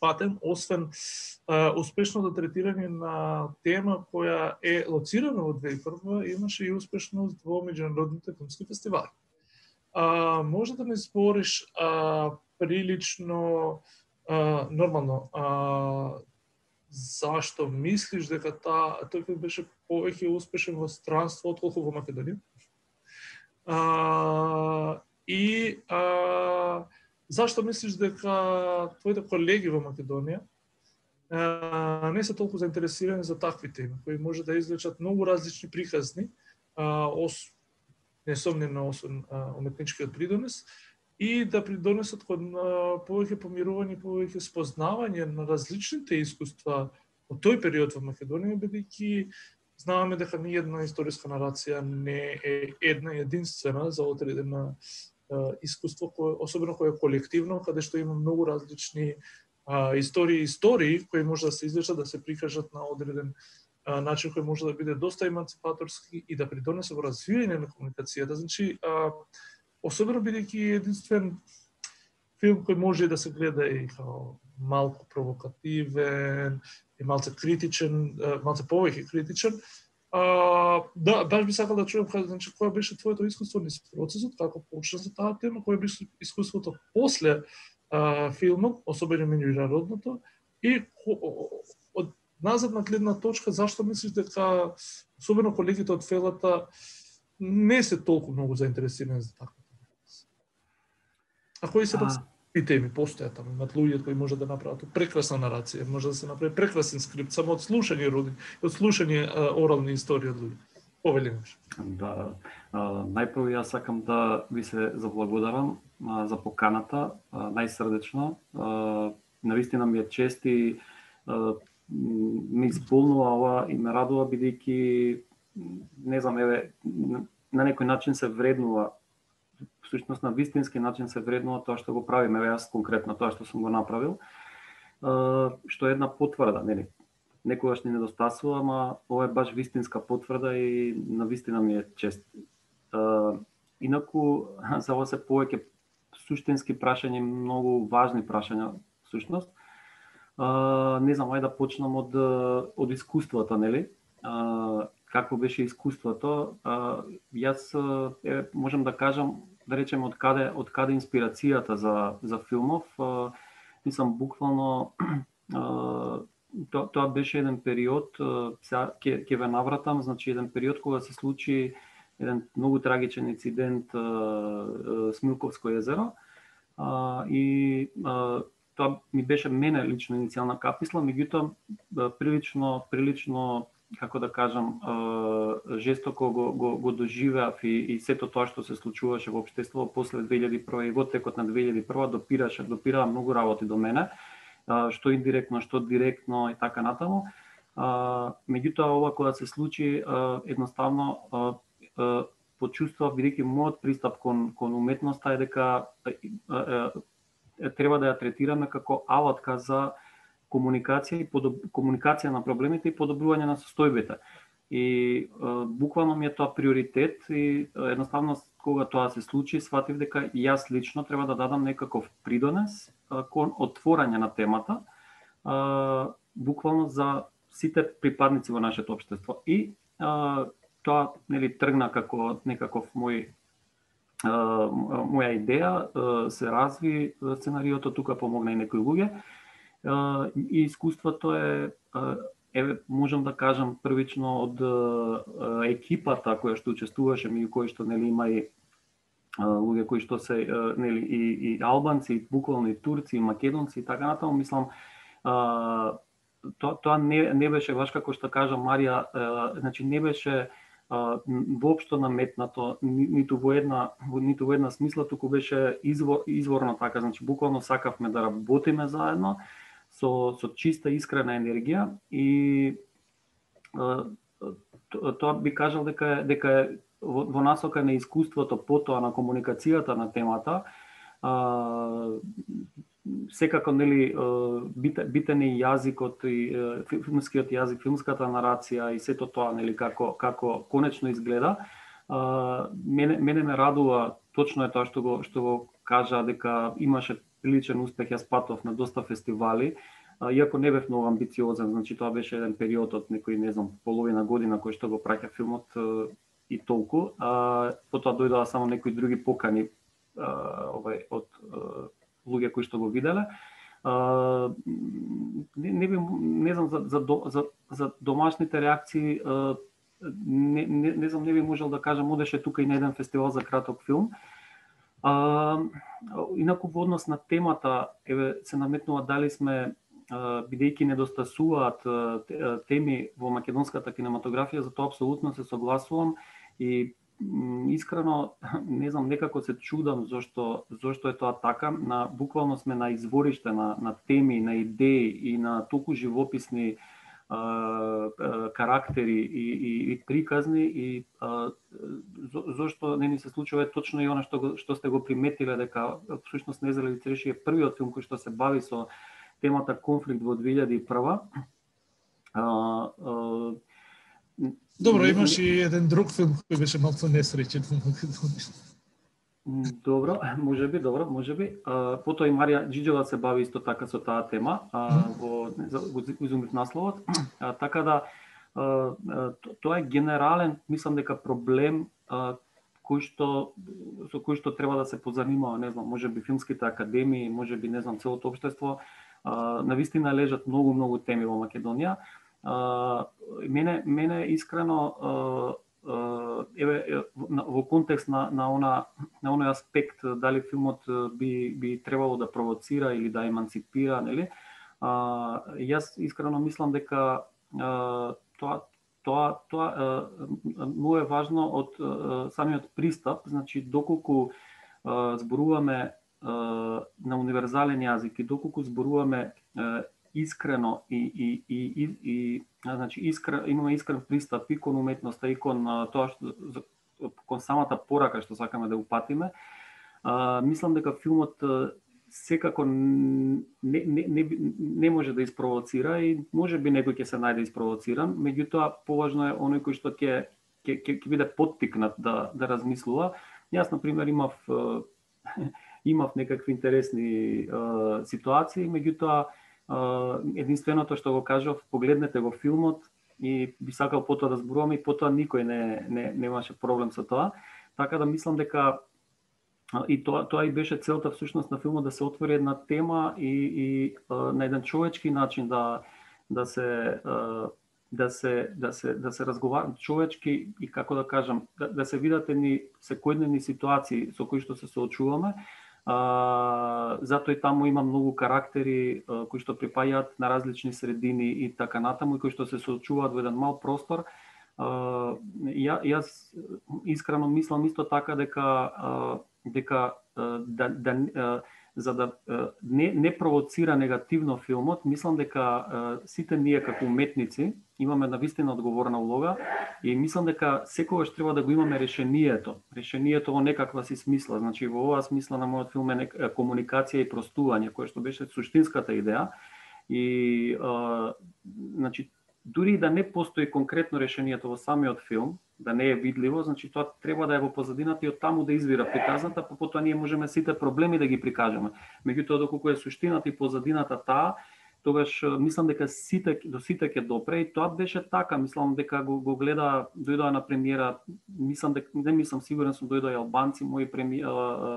патен, освен а, успешното третирање на тема која е лоцирана во две илјади и прва, имаше и успешност во меѓународните филмски фестивали. А, може да ми збориш а, прилично а, нормално, а, зашто мислиш дека та, тој филм беше повеќе успешен во странство отколку во Македонија? А, и а, зашто мислиш дека твоите колеги во Македонија а, не се толку заинтересирани за такви теми, кои може да извлечат многу различни приказни, а, ос, несомнено освен уметничкиот придонес, и да придонесат кон повеќе помирување, повеќе спознавање на различните искуства од тој период во Македонија, бидејќи знаме дека ни една историска нарација не е една единствена за одредена искуство, кое, особено кое е колективно, каде што има многу различни а, истории и истории кои може да се извлечат, да се прикажат на одреден а, начин кој може да биде доста емансипаторски и да придонесе во развивање на комуникацијата. Значи, а, особено бидејќи единствен филм кој може да се гледа и као малку провокативен, и малце критичен, малце повеќе критичен. А, да, баш би сакал да чуем, значи, која беше твоето искуство низ процесот, како почна за таа тема, која беше искуството после а, филмот, особено меѓународното, и од назад на гледна точка, зашто мислиш дека, особено колегите од фелата, не се толку многу заинтересирани за таква тема? А кои се пак и теми постојат таму, имат луѓе кои може да направат прекрасна нарација, може да се направи прекрасен скрипт, само од слушање роди, од слушање а, орални истории од луѓе. Повелимаш. Да, а, најпрво јас сакам да ви се заблагодарам а, за поканата, а, најсрдечно. А, навистина ми е чест и а, ме исполнува ова и ме радува бидејќи не знам, еве, на некој начин се вреднува, всушност на вистински начин се вреднува тоа што го правиме, еве јас конкретно тоа што сум го направил, што е една потврда, нели? Некогаш ни недостасува, ама ова е баш вистинска потврда и на вистина ми е чест. Инаку, за ова се повеќе суштински прашања, многу важни прашања, всушност. Не знам, ајде да почнам од, од искуствата, нели? Какво беше искуството? Јас е, можам да кажам, да речем, од каде, од каде инспирацијата за, за филмов. Мислам, буквално, тоа, тоа беше еден период, сега ќе, ќе ве навратам, значи еден период кога се случи еден многу трагичен инцидент, Смилковско езеро, и тоа ми беше мене лично иницијална каписла, меѓутоа прилично, прилично како да кажам, жестоко го, го, го доживеав и, и сето тоа што се случуваше во општеството после две илјади и прва и во текот на две илјади и прва допираше, допираа многу работи до мене, што индиректно, што директно и така натаму. Меѓутоа ова кога се случи, едноставно почувствував, бидејќи мојот пристап кон, кон уметноста е дека треба да ја третираме како алатка за комуникација и подоб... комуникација на проблемите и подобрување на состојбите. И е, буквално ми е тоа приоритет и едноставно кога тоа се случи, сватив дека јас лично треба да дадам некаков придонес е, кон отворање на темата, е, буквално за сите припадници во нашето општество. И е, тоа, нели, тргна како некаков мој моја идеја, се разви сценариото, тука помогна и некои луѓе. И искуството е, еве, можам да кажам првично од екипата која што учествуваше, меѓу кои што, нели, има и луѓе кои што се, нели, и, и албанци, и буквално и турци, и македонци и така натаму, мислам, тоа, тоа не, не беше баш како што кажа Марија, значи не беше воопшто наметнато, ниту во една ниту во една смисла, туку беше извор, изворно така, значи буквално сакавме да работиме заедно со со чиста искрена енергија и тоа би кажал дека дека е во, во насока на искуството, потоа на комуникацијата на темата. А, секако, нели, битен е јазикот и филмскиот јазик, филмската нарација и сето тоа, нели, како како конечно изгледа. А, мене мене ме радува, точно е тоа што го што го кажа, дека имаше приличен успех, јас патов на доста фестивали, а, иако не бев многу амбициозен, значи тоа беше еден период од некој, не знам, половина година кој што го праќа филмот и толку. А, потоа дојдоа само некои други покани а, овај од луѓе кои што го виделе. Uh, не, не, би, не знам за, за, за, за домашните реакции, uh, не, не, не знам, не би можел да кажам, одеше тука и на еден фестивал за краток филм. Uh, инаку во однос на темата, еве се наметнува дали сме, uh, бидејќи недостасуваат uh, теми во македонската кинематографија, за тоа апсолутно се согласувам и искрено не знам, некако се чудам зошто зошто е тоа така. На буквално сме на извориште на на теми, на идеи и на толку живописни а, а, карактери и, и, и приказни и а, зошто не ни се случува точно и она што што сте го приметиле дека всушност Незрели цреши е првиот филм кој што се бави со темата конфликт во две илјади и прва. А, а, Добро, имаш и еден друг филм кој беше малку несреќен во Македонија. Добро, може би, добро, може би. А, потоа и Марија Џиџева се бави исто така со таа тема, а, во го изумив насловот. А, така да а, тоа е генерален, мислам дека проблем а, кој што со кој што треба да се позанимава, не знам, можеби филмските академии, можеби не знам целото општество. А, навистина лежат многу многу теми во Македонија. Uh, мене мене искрено uh, uh, еве во контекст на на она на оној аспект дали филмот би би требало да провоцира или да еманципира, нели? Uh, јас искрено мислам дека uh, тоа тоа тоа uh, многу е важно од uh, самиот пристап, значи доколку uh, зборуваме uh, на универзален јазик и доколку зборуваме uh, искрено и и и и, и значи искрен имаме искрен пристап и кон уметноста и кон тоа што кон самата порака што сакаме да упатиме. А, мислам дека филмот секако не не не не може да испровоцира и можеби некој ќе се најде испровоциран, меѓутоа поважно е оној кој што ќе ќе ќе биде поттикнат да да размислува. Јас на пример имав имав некакви интересни uh, ситуации, меѓутоа Uh, единственото што го кажав, погледнете го филмот и би сакал потоа да зборуваме и потоа никој не, не немаше проблем со тоа. Така да мислам дека uh, и тоа тоа и беше целта всушност на филмот, да се отвори една тема и и uh, на еден човечки начин да да се uh, да се да се да се разговара човечки и како да кажам, да, да се видат едни секојдневни ситуации со кои што се соочуваме. Uh, затоа и таму има многу карактери uh, кои што припаѓаат на различни средини и така натаму и кои што се соочуваат во еден мал простор. Uh, ја, јас искрено мислам исто така дека uh, дека uh, да, да uh, за да uh, не не провоцира негативно филмот, мислам дека uh, сите ние како уметници имаме навистина одговорна улога и мислам дека секогаш треба да го имаме решението. Решението во некаква си смисла. Значи во оваа смисла на мојот филм е комуникација и простување, која што беше суштинската идеја. И а, значи дури да не постои конкретно решението во самиот филм, да не е видливо, значи тоа треба да е во позадината и од таму да извира приказната, па потоа ние можеме сите проблеми да ги прикажеме. Меѓутоа доколку е суштината и позадината таа, тогаш мислам дека сите до сите ќе допре и тоа беше така. Мислам дека го, го гледа, дојдоа на премиера, мислам дека не мислам сигурен сум дојдоа и албанци, мои преми,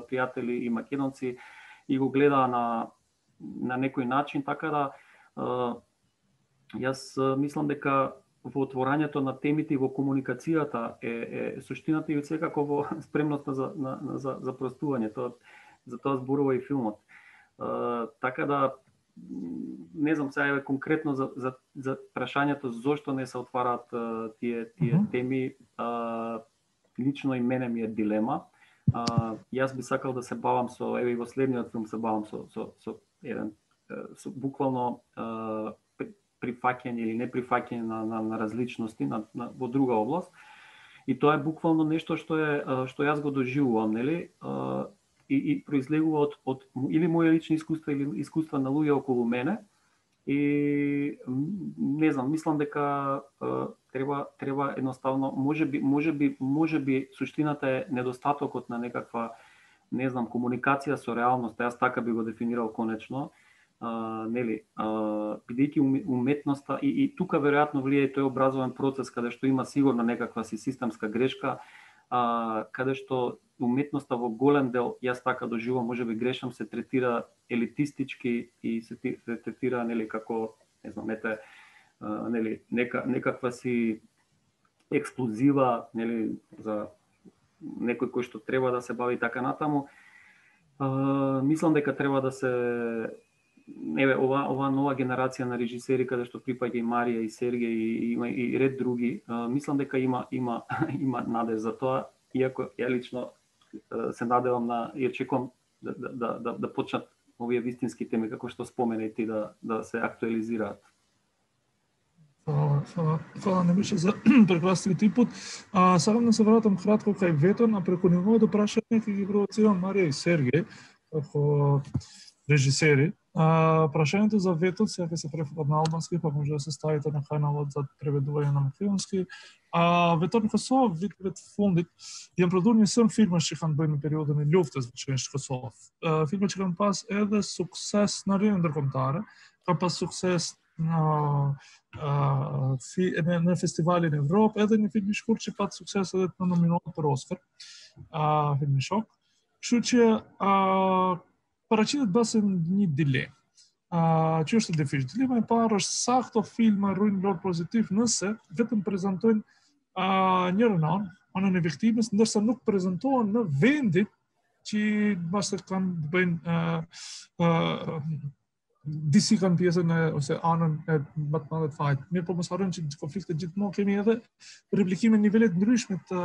пријатели и македонци и го гледаа на на некој начин, така да јас мислам дека во отворањето на темите и во комуникацијата е, е суштината и секако во спремноста за на, за за простување. Тоа за тоа зборува и филмот. Uh, така да не знам сега е конкретно за за за прашањето зошто не се отвараат uh, тие тие mm -hmm. теми, uh, лично и мене ми е дилема. Uh, јас би сакал да се бавам со еве и во следниот филм се бавам со со со еден со буквално uh, прифаќање или неприфаќање на, на, на различности на, на, во друга област. И тоа е буквално нешто што е што јас го доживувам, нели? И, и произлегува од, од или мои лични искуства или искуства на луѓе околу мене. И не знам, мислам дека треба треба едноставно, можеби можеби можеби суштината е недостатокот на некаква, не знам, комуникација со реалноста. Јас така би го дефинирал конечно. Uh, нели, uh, бидејќи уметноста и, и тука веројатно влие тој образовен процес каде што има сигурно некаква си системска грешка, а, каде што уметноста во голем дел, јас така доживувам, можеби грешам, се третира елитистички и се, се третира нели како, не знам, ете, а, нели нека некаква си експлозива, нели за некој кој што треба да се бави така натаму. А, мислам дека треба да се еве ова ова нова генерација на режисери каде што припаѓа и Марија и Сергеј и има и, и ред други, а, мислам дека има има има надеж за тоа, иако ја лично се надевам на и очекувам да да да да почнат овие вистински теми како што спомена и ти да да се актуализираат. Фала, фала, фала не беше за прекрасниот инпут. А, сакам да се вратам кратко кај Ветон, а преку неговото прашање ќе ги провоцирам Марија и Сергеј како режисери. А, прашањето за Ветон сега ќе се префатат на албански, па може да се ставите на каналот за преведување на македонски. А Ветон Косов, вид вет фондит, јам продурни сам филма што ќе бъде периодот на љуфта за Косов. Филмот ќе ќе пас еде суксес на рен документара, ка па суксес на Uh, fi, на, на фестивали на Европа, еден филм шкурче пат суксес еден на номинал per Оскар, uh, филм шок. Што че uh, парачидат басен ни диле. Uh, Че што дефиш дилема е параш сахто филма руин лор позитив nëse vetëm prezantojnë uh, njërën anë, anën e viktimës, ndërsa nuk prezantohen në vendit që bashkë kanë të bëjnë uh, uh, disi kanë pjesën e, ose anën e më të madhe të fajt. Mirë po mos harrojmë që konfliktet gjithmonë kemi edhe replikime në nivelet ndryshme të,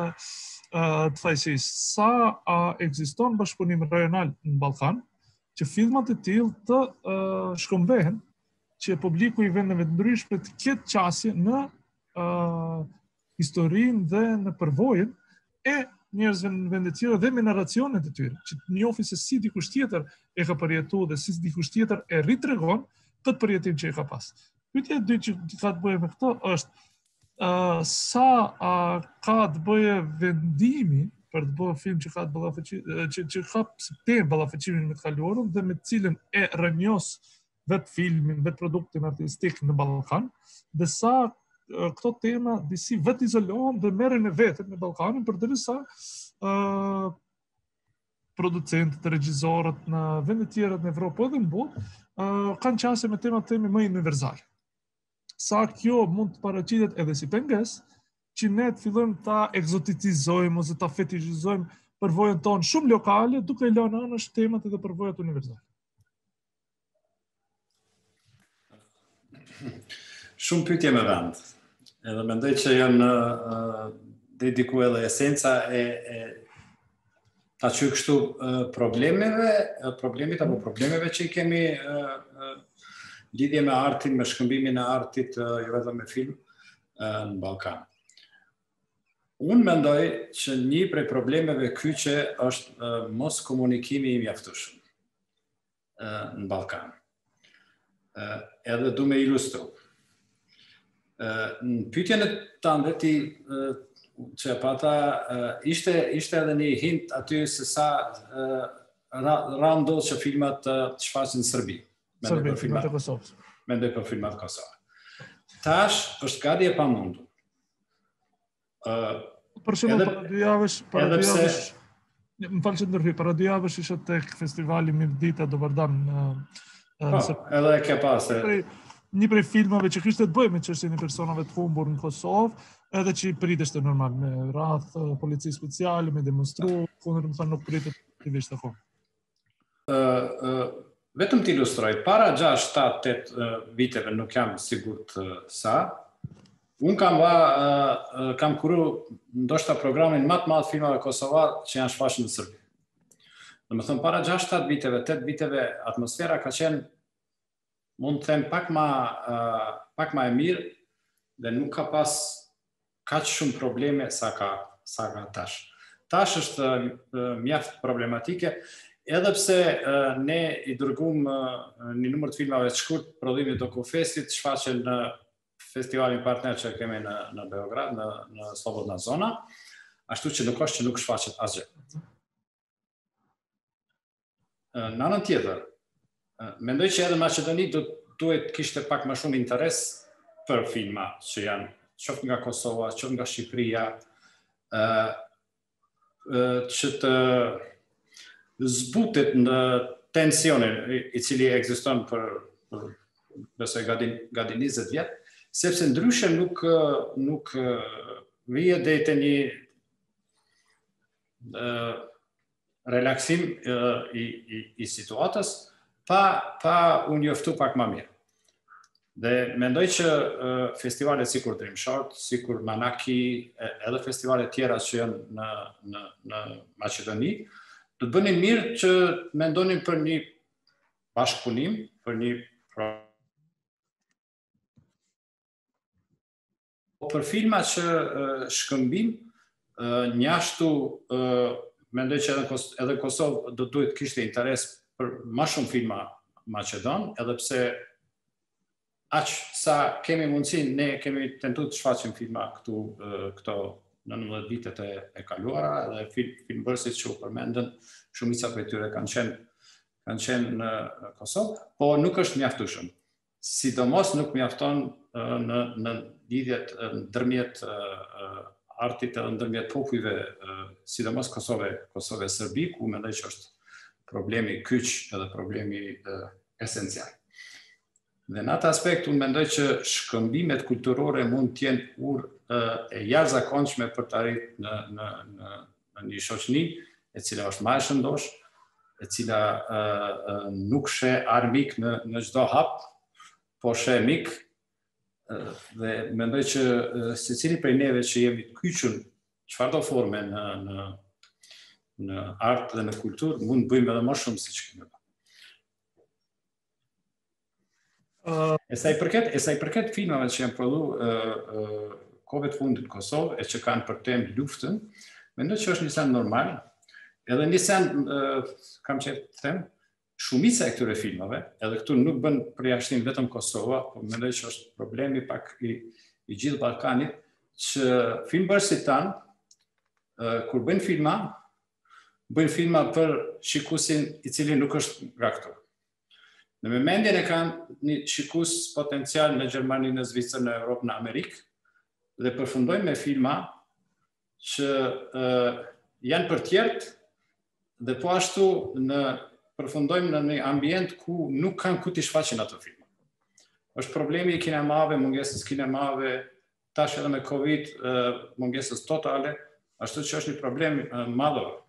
të fajësisë. Sa uh, ekziston bashkëpunim rajonal në Ballkan, që filmat e tillë të uh, shkëmbehen, që publiku i vendeve të ndryshme të ketë qasje në uh, historinë dhe në përvojën e njerëzve në vende tjera dhe me narracionet e tyre, që të njohin se si dikush tjetër e ka përjetuar dhe si dikush tjetër e ritregon këtë përjetim që e ka pas. Pyetja e dytë që ka të bëjë me këtë është uh, sa uh, ka të bëjë vendimi për të bërë film që ka të ballafaqi që që ka të ballafaqimin me të kaluarën dhe me të cilën e rënjos vetë filmin, vetë produktin artistik në Ballkan, dhe sa këto tema disi vetë izolohen dhe merren në vetë në Ballkanin, përderisa uh, producentët, regjizorët në vende tjera në Evropë edhe në botë uh, kanë qasje me tema teme më universale. Sa kjo mund të paraqitet edhe si pengesë që ne të fillojmë ta ekzoticizojmë ose ta fetishizojmë përvojën tonë shumë lokale, duke lënë anësh temat edhe përvojat universale. Shumë pyetje me vend. Edhe mendoj që janë uh, dediku edhe esenca e, e ta që kështu uh, problemeve, uh, problemit apo problemeve që i kemi uh, uh, lidhje me artin, me shkëmbimin e artit, uh, jo vetëm me film, uh, në Ballkan. Unë mendoj që një prej problemeve kyçe është uh, mos komunikimi i mjaftueshëm uh, në Ballkan. Uh, edhe du me ilustru. Uh, në pyetjen e tënde ti uh, që e pata, uh, ishte, ishte edhe një hint aty se sa uh, ra ndodh që filmat uh, të shfaqen në Serbi. Serbi, filmat e Kosovës. Mendoj për filmat Kosovë. Tash është gati e pamundur. Uh, Për shembull, para dy javësh, para dy javësh, më falë që ndërhyj, para dy javësh isha tek festivali Mirdita Dobardan në Po, edhe e ke pas. Një prej filmave që kishte të bëjë me çështjen e personave të humbur në Kosovë, edhe që i priteshte normal me radh polici speciale, me demonstru, kundër më thënë nuk pritet aktivisht akoma. Uh, uh, vetëm të ilustroj, para gjashtë, shtatë, tetë viteve, nuk jam sigurt uh, sa, unë kam va, uh, kam kuru ndoshta programin më të madh filmave kosovar që janë shfaqur në Serbi. Në më thëmë, para gjashtë, shtatë viteve, tetë viteve, atmosfera ka qenë, mund të them, pak ma, uh, pak ma e mirë, dhe nuk ka pas kaq shumë probleme sa ka, sa ka tash. Tash është uh, mjaft problematike, edhe pse uh, ne i dërgum uh, një numër të filmave të shkurt, prodhimit Dokufestit, shfaqen në festivalin partner që kemi në, në Beograd, në, në Slobodna Zona, ashtu që nuk është që nuk shfaqet asgjë. Uh, në anën tjetër, uh, mendoj që edhe Maqedoni duhet kishte pak më shumë interes për filma që janë qoftë nga Kosova, qoftë nga Shqipëria, uh, që të zbutet në tensionin i cili ekziston për, për besoj gati gati njëzet vjet, sepse ndryshe nuk nuk vije deri te një uh, relaksim uh, i, i, i situatës pa, pa u njoftu pak më mirë. Dhe mendoj që uh, festivalet sikur Dreamshot, sikur Manaki, edhe festivalet tjera që janë në, në, në Maqedoni, do të bënin mirë që mendonin për një bashkëpunim, për një për filma që uh, shkëmbim, uh, njashtu uh, mendoj që edhe, edhe Kosovë do duhet kishte interes për më shumë filma maqedon, edhe pse aq sa kemi mundësi, ne kemi tentuar të shfaqim filma këtu uh, këto nëntëmbëdhjetë vitet e, e kaluara, edhe film, filmbërësit që u përmendën, shumica prej tyre kanë qenë kanë qenë në Kosovë, po nuk është mjaftueshëm. Sidomos nuk mjafton uh, në në lidhjet ndërmjet uh, artit edhe ndërmjet popujve, uh, sidomos Kosove, Kosove Serbi, ku mendoj që është problemi kyç edhe problemi uh, esencial. Dhe në atë aspekt, unë mendoj që shkëmbimet kulturore mund të jenë urë e jashtëzakonshme për të arritur në, në, në, në një shoqëni e cila është më e shëndosh, e cila uh, uh, nuk sheh armik në, në çdo hap, po sheh mik, uh, dhe mendoj që uh, secili prej neve që jemi të kyçur çfarëdo forme në, në, në art dhe në kulturë, mund të bëjmë edhe më shumë siç kemi bërë. E sa i përket, e sa i përket filmave që janë prodhu uh, uh, kohëve të fundit në Kosovë e që kanë për temë luftën, mendoj që është një send normal. Edhe një send, uh, kam qenë të them, shumica e këtyre filmave, edhe këtu nuk bën përjashtim vetëm Kosova, por mendoj që është problemi pak i, i gjithë Ballkanit, që filmbërësit tanë, uh, kur bëjnë filma, bëjnë filma për shikuesin i cili nuk është nga këtu. Në me mendjen e kanë një shikus potencial në Gjermani, në Zvicër, në Europë, në Amerikë, dhe përfundojmë me filma që uh, janë për tjertë dhe po ashtu në, përfundojmë në një ambient ku nuk kanë ku t'i shfaqin ato filma. Është problemi i kinemave, mungesës kinemave, tash edhe me Covid, uh, mungesës totale, ashtu që është një problem uh, madhor.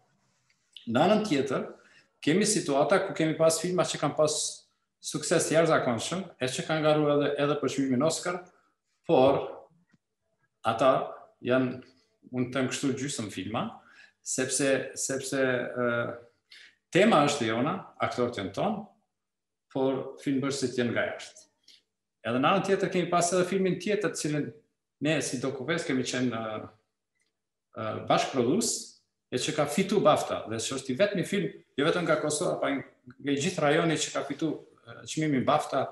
Në anën tjetër, kemi situata ku kemi pas filma që kanë pas sukses jashtëzakonshëm, e që kanë garuar edhe, edhe për çmimin Oscar, por ata janë, unë them kështu, gjysmë filma, sepse, sepse uh, tema është jona, aktorët janë tonë, por filmbërësit janë nga jashtë. Edhe në anën tjetër kemi pas edhe filmin tjetër, cilin ne si Dokufest kemi qenë uh, uh, bashkëprodhues, e që ka fitu BAFTA, dhe që është i vetmi film, jo vetëm nga Kosova, pa nga i gjithë rajoni që ka fitu çmimin BAFTA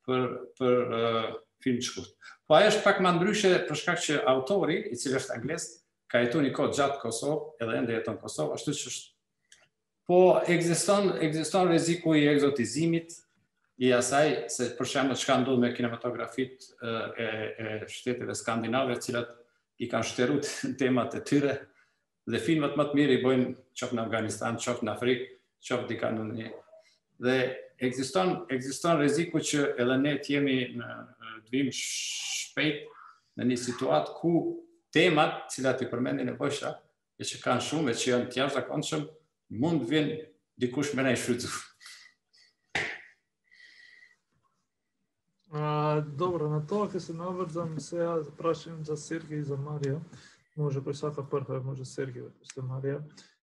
për, për uh, film shkurt. Po ajo është pak më ndryshe për shkak që autori, i cili është anglez, ka jetuar një kohë gjatë Kosovë, edhe ende jeton në Kosovë, ashtu që është. Po ekziston ekziston rreziku i egzotizimit i asaj, se për shembull çka ndodh me kinematografit uh, e, e shteteve skandinave, të cilat i kanë shtruar temat e tyre, dhe filmat më të mirë i bojnë qoftë në Afganistan, qoftë në Afrikë, qoftë dika në një. Dhe ekziston ekziston rreziku që edhe ne të jemi në të vim shpejt në një situatë ku temat, të cilat i përmendin e bësha, e që kanë shumë e që janë të jashtëzakonshëm, mund të vinë dikush me ne shfrytzu. Добро, на тоа ќе се наврзам сега за прашање за Сергеј и за Марија. Може кој сака прва, може Сергеј после Марија.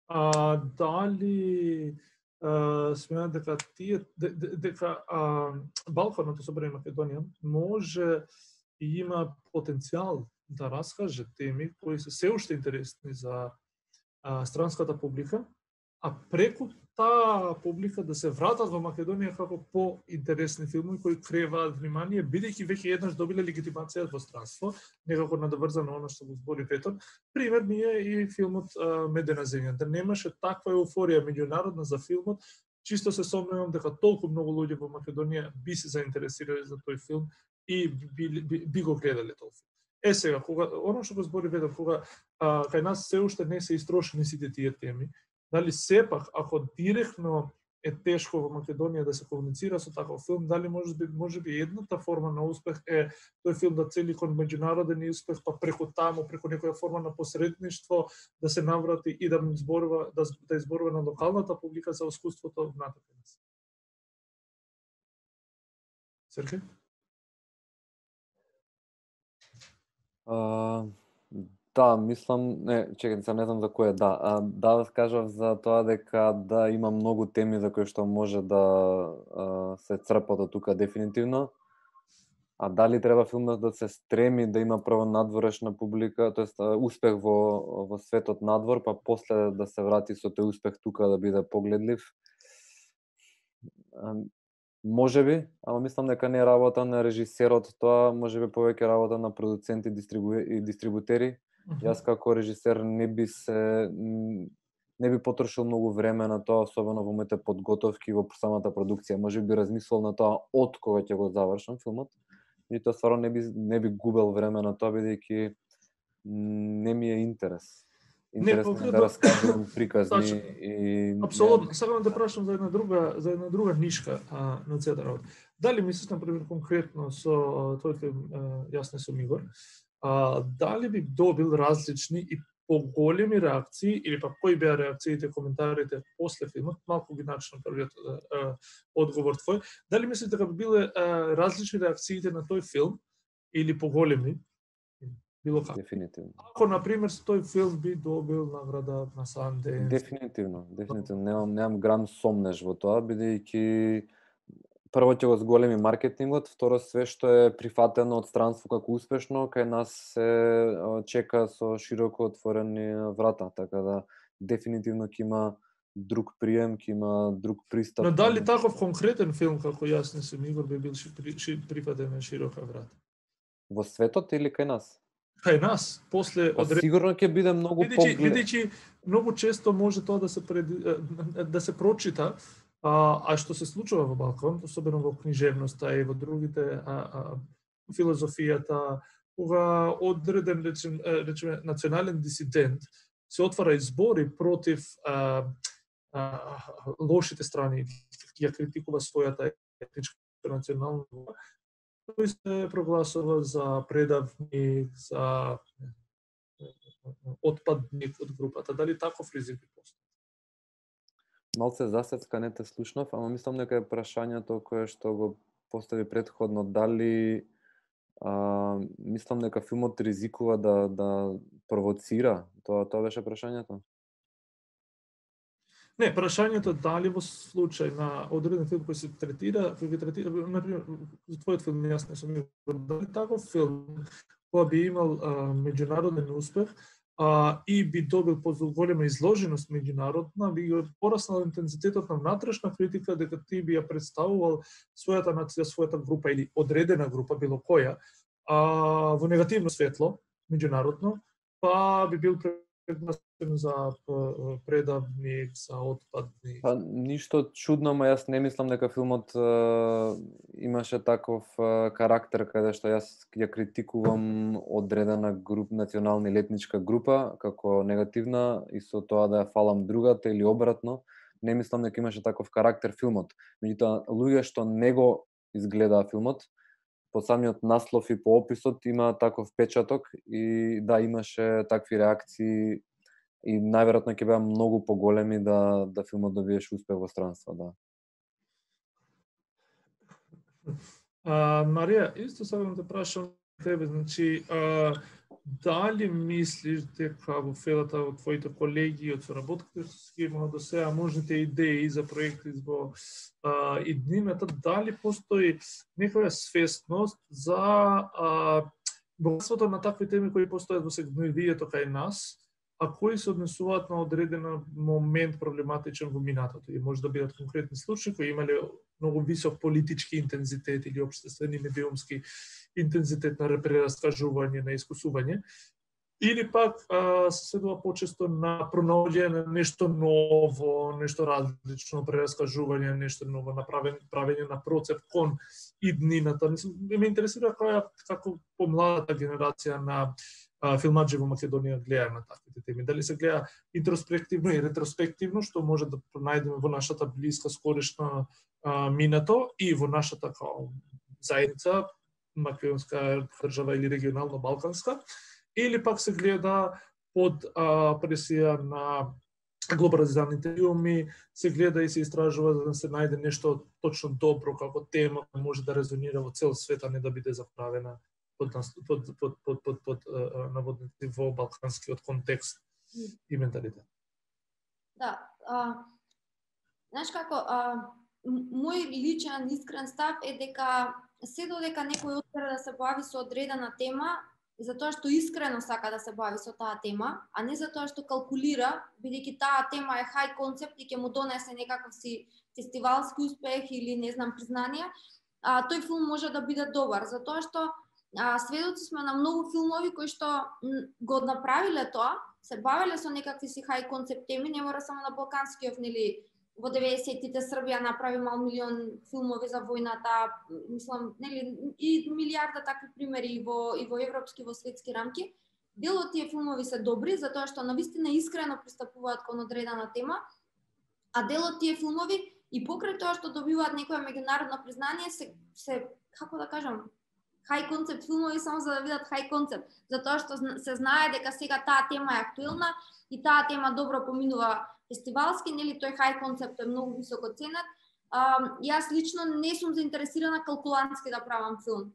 А дали Uh, сметам дека тие дека uh, Балканот, особено Македонија, може и има потенцијал да раскаже теми кои се се уште интересни за uh, странската публика, а преку таа публика да се вратат во Македонија како по-интересни филми кои креваат внимание, бидејќи веќе еднаш добиле легитимација во странство, некако надоврзано оно што го збори Петор. Пример ми е и филмот Медена земја, да немаше таква еуфорија меѓународна за филмот, чисто се сомневам дека толку многу луѓе во Македонија би се заинтересирале за тој филм и би, би, би го гледале тој филм. Е сега, кога оно што го збори Петор, кога а, кај нас се уште не се истрошени сите тие теми. Дали сепак, ако директно е тешко во Македонија да се комуницира со таков филм, дали може би, може би едната форма на успех е тој филм да цели кон меѓународен успех, па преку таму, преку некоја форма на посредништво, да се наврати и да зборува, да, да изборува на локалната публика за искуството внатре. Серхе? А, да, мислам, не, чекај, се не знам за кој е, да. А, да, кажав за тоа дека да има многу теми за кои што може да а, се црпат од тука дефинитивно. А дали треба филмот да се стреми да има прво надворешна публика, тоест успех во во светот надвор, па после да се врати со тој успех тука да биде погледлив? А, може би, ама мислам дека не е работа на режисерот тоа, може би повеќе работа на продуценти дистрибу... и дистрибутери. Mm-hmm. Јас како режисер не би се не би потрошил многу време на тоа, особено во моите подготовки во самата продукција. Може би размислил на тоа од кога ќе го завршам филмот. И тоа стварно не би не би губел време на тоа, бидејќи не ми е интерес. Интересно не, да раскажувам приказни Точно. И апсолутно. Сакам да прашам за една друга за една друга нишка а, на целата работа. Дали мислиш на пример конкретно со тој филм Јас не сум Игор, а, дали би добил различни и поголеми реакции или па кои беа реакциите, коментарите после филмот, малку ги начнам првиот одговор твој, дали мислиш дека би биле а, различни реакциите на тој филм или поголеми? Било како? Дефинитивно. Ако, например, тој филм би добил награда на Санденс? Дефинитивно, дефинитивно. Немам, немам грам сомнеш во тоа, бидејќи прво ќе го зголеми маркетингот, второ све што е прифатено од странство како успешно, кај нас се чека со широко отворени врата, така да дефинитивно ќе има друг прием, ќе има друг пристап. Но дали таков конкретен филм како Јас не сум Игор би бил прифатен на широка врата? Во светот или кај нас? Кај нас, после па, одре... сигурно ќе биде многу поглед. Бидејќи многу често може тоа да се пред... да се прочита, а, а што се случува во Балкан, особено во книжевноста и во другите а, а, филозофијата, кога одреден речем, речеме национален дисидент се отвара избори против а, а, лошите страни, ја критикува својата етничка национална, тој се прогласува за предавник, за отпадник од групата. Дали таков ризик би постои? Малце засецка не те слушнав, ама мислам дека е прашањето кое што го постави предходно, дали а, мислам дека филмот ризикува да да провоцира, тоа тоа беше прашањето? Не, прашањето дали во случај на одреден филм кој се третира, кој ги третира, например, за твојот филм Јас не сум Игор, дали таков филм кој би имал а, меѓународен успех а, и би добил поголема изложеност меѓународна, би го пораснал интензитетот на внатрешна критика дека ти би ја представувал својата нација, својата група или одредена група, било која, а, во негативно светло, меѓународно, па би бил преднасен за предавник, за отпадник. Па ништо чудно, ма јас не мислам дека филмот е, имаше таков е, карактер каде што јас ја критикувам одредена груп, национална или етничка група како негативна и со тоа да ја фалам другата или обратно. Не мислам дека имаше таков карактер филмот. Меѓутоа, луѓе што не го изгледаа филмот, по самиот наслов и по описот има таков печаток и да, имаше такви реакции и најверојатно ќе беа многу поголеми да да филмот добиеше успех во странство, да. А, Марија, исто сакам да прашам тебе, значи, а, дали мислиш дека во фелата од твоите колеги од соработките што ги имала до сега, можните идеи за проекти во а, иднината, дали постои некоја свесност за а, богатството на такви теми кои постојат во сегментието кај нас, а кои се однесуваат на одреден момент проблематичен во минатото. И може да бидат конкретни случаи кои имале многу висок политички интензитет или општествени медиумски интензитет на прераскажување, на искусување, или пак а, се следува почесто на пронаоѓање на нешто ново, нешто различно, прераскажување, нешто ново, направен, правење на процеп кон иднината. Мислам, ме интересира која, како помладата генерација на филмаджи во Македонија гледаат на таквите теми. Дали се гледа интроспективно и ретроспективно, што може да пронајдеме во нашата блиска, скорешна минато и во нашата као заедница, македонска држава или регионално балканска, или пак се гледа под а, пресија на глобализираните филми, се гледа и се истражува за да се најде нешто точно добро како тема, може да резонира во цел свет, а не да биде заправена под, под, под, под, под, под наводници во балканскиот контекст и менталитет. Да, а, знаеш како, а, мој личен искрен став е дека се додека некој одбира да се бави со одредена тема, затоа што искрено сака да се бави со таа тема, а не затоа што калкулира, бидејќи таа тема е хај концепт и ќе му донесе некаков си фестивалски успех или не знам признание, а, тој филм може да биде добар, затоа што а, сведоци сме на многу филмови кои што го направиле тоа, се бавеле со некакви си хај концепт теми, не мора само на балканскиот, нели, во деветдесеттите Србија направи мал милион филмови за војната, мислам, нели, и милиарда такви примери и во и во европски, во светски рамки. Дел од тие филмови се добри затоа што навистина искрено пристапуваат кон одредена тема, а дел од тие филмови и покрај тоа што добиваат некое меѓународно признание се се како да кажам, хај концепт филмови само за да видат хај концепт, затоа што се знае дека сега таа тема е актуелна и таа тема добро поминува фестивалски, нели тој хај концепт е многу високо ценет. А, јас лично не сум заинтересирана калкулантски да правам филм.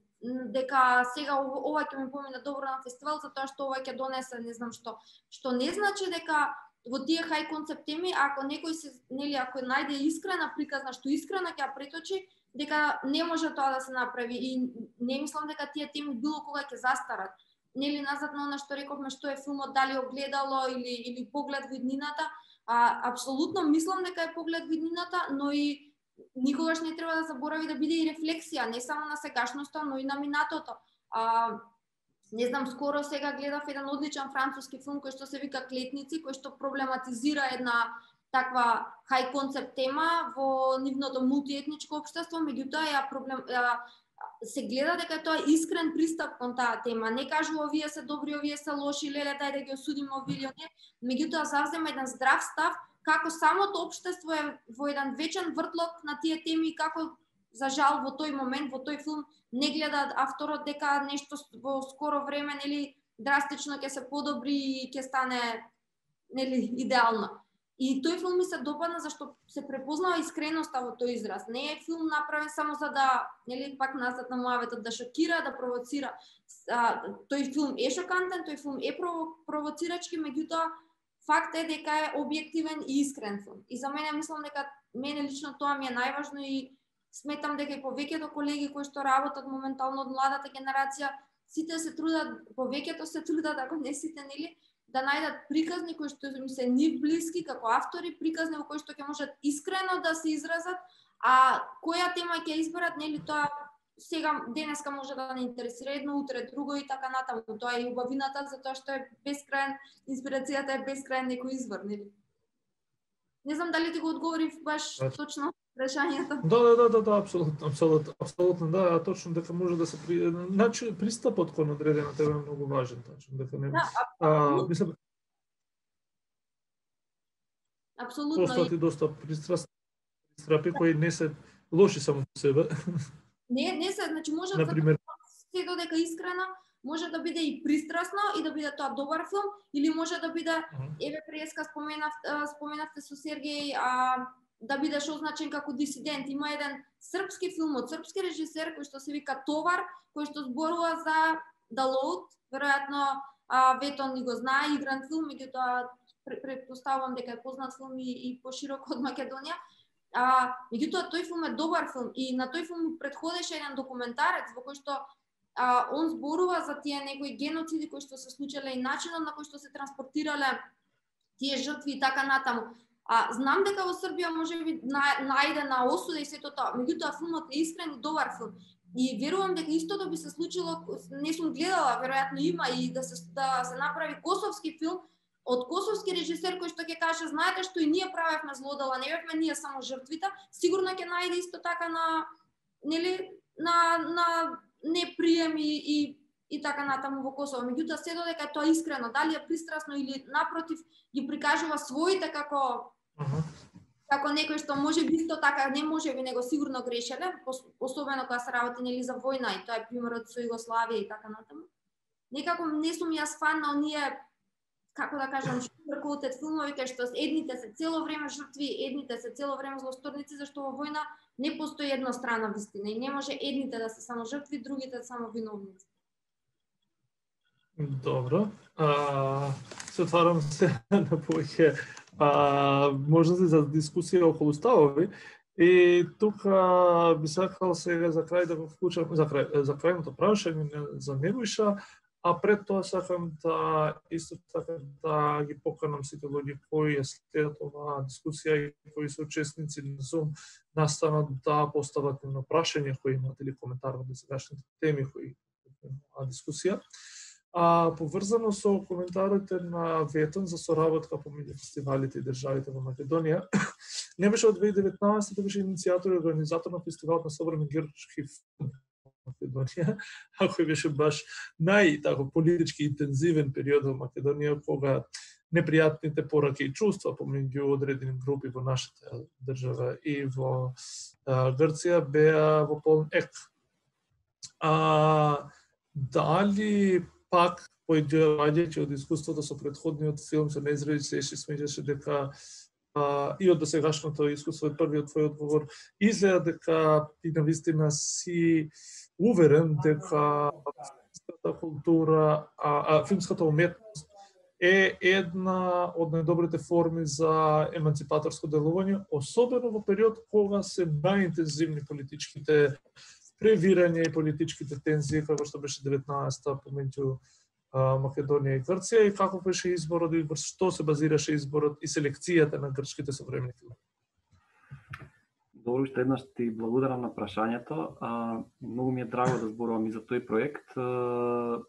Дека сега ова ќе ми помине добро на фестивал затоа што ова ќе донесе не знам што. Што не значи дека во тие хај концепт теми, ако некој се, нели, ако најде искрена приказна што искрено ќе ја преточи, дека не може тоа да се направи и не мислам дека тие теми било кога ќе застарат. Нели назад на она што рековме што е филмот, дали огледало или или поглед во иднината, а апсолутно мислам дека е поглед во иднината, но и никогаш не треба да заборави да биде и рефлексија, не само на сегашноста, но и на минатото. А, не знам, скоро сега гледав еден одличен француски филм кој што се вика Клетници, кој што проблематизира една таква хај концепт тема во нивното мултиетничко општество, меѓутоа ја проблем ја, се гледа дека тоа е искрен пристап кон таа тема. Не кажува овие се добри, овие се лоши, леле дај да ги осудиме овие или оние, меѓутоа завзема еден здрав став како самото општество е во еден вечен вртлок на тие теми и како за жал во тој момент, во тој филм не гледа авторот дека нешто во скоро време, нели, драстично ќе се подобри и ќе стане, нели, идеално. И тој филм ми се допадна зашто се препознава искреноста во тој израз. Не е филм направен само за да, нели, пак назад на муаветот, да шокира, да провоцира. А, тој филм е шокантен, тој филм е провоцирачки, меѓутоа факт е дека е објективен и искрен филм. И за мене мислам дека мене лично тоа ми е најважно и сметам дека и повеќето колеги кои што работат моментално од младата генерација, сите се трудат, повеќето се трудат, ако не сите, нели, да најдат приказни кои што им се нив блиски како автори, приказни во кои што ќе можат искрено да се изразат, а која тема ќе изберат, нели, тоа сега денеска може да не интересира едно, утре друго и така натаму. Тоа е убавината затоа што е бескраен, инспирацијата е бескраен некој извор, нели? Не знам дали ти го одговорив баш точно прашањето. Да, да, да, да, да, апсолутно, апсолутно, апсолутно, да, а точно дека може да се при... значи пристапот кон одредена тема е многу важен, точно дека не. Да, а, мислам апсолутно. Постати доста пристрасни пристрапи кои не се лоши само по себе. Не, не се, значи може да се додека искрена, може да биде и пристрасно и да биде тоа добар филм, или може да биде, еве преска споменав, споменавте со Сергеј, а, да бидеш означен како дисидент. Има еден српски филм од српски режисер кој што се вика Товар, кој што зборува за The Load, веројатно а, Ветон ни го знае, игран филм, меѓутоа претпоставувам дека е познат филм и, и пошироко од Македонија. А, меѓутоа тој филм е добар филм и на тој филм претходеше еден документарец во кој што а, он зборува за тие некои геноциди кои што се случиле и начинот на кој што се транспортирале тие жртви и така натаму. А, знам дека во Србија може би најде на осуда и сето тоа, меѓутоа филмот е искрен и добар филм. И верувам дека истото би се случило, не сум гледала, веројатно има и да се да се направи косовски филм од косовски режисер кој што ќе каже, знаете што и ние правевме злодела, не бевме ние само жртвите, сигурно ќе најде исто така на, нели, на на неприем и, и и така натаму во Косово. Меѓутоа се додека тоа искрено, дали е пристрасно или напротив ги прикажува своите како Аха. како некој што може би исто така не може би него сигурно грешеле, особено кога се работи нели за војна и тоа е примерот со Југославија и така натаму. Некако не сум јас фан на оние, како да кажам, sugar-coated филмови кај што едните се цело време жртви, едните се цело време злосторници, зашто во војна не постои еднострана вистина и не може едните да се само жртви, другите само виновници. Добро. А, се отварам се на повеќе можности за дискусија околу ставови. И тука би сакал сега за крај да го вклучам за крај за крајното прашање за Nebojša, а пред тоа сакам да исто така да ги поканам сите луѓе кои следат оваа дискусија и кои се учесници на Zoom настанат да постават на прашање кои имаат или коментар во досегашните теми кои на дискусија. А поврзано со коментарите на Ветон за соработка помеѓу фестивалите и државите во Македонија, Nebojša од две илјади и деветнаесета беше иницијатор и организатор на фестивалот на современ грчки филм во Македонија, а кој беше баш нај тако политички интензивен период во Македонија, кога непријатните пораки и чувства помеѓу одредени групи во нашата држава и во а, Грција беа во полн ек. А дали пак, поиѓајќи од искуството со претходниот филм со Незвери Сеши, смеѓаше дека а, и од досегашното искуство, од првиот твој одговор, изгледа дека ти навистина си уверен дека филмската култура, а, а филмската уметност е една од најдобрите форми за еманципаторско делување, особено во период кога се најинтензивни политичките превирање и политичките тензии, како што беше деветнаесета помеѓу Македонија и Грција, и како беше изборот и врз што се базираше изборот и селекцијата на грчките современи филми. Добро, уште еднаш ти благодарам на прашањето. А, многу ми е драго да зборувам и за тој проект. А,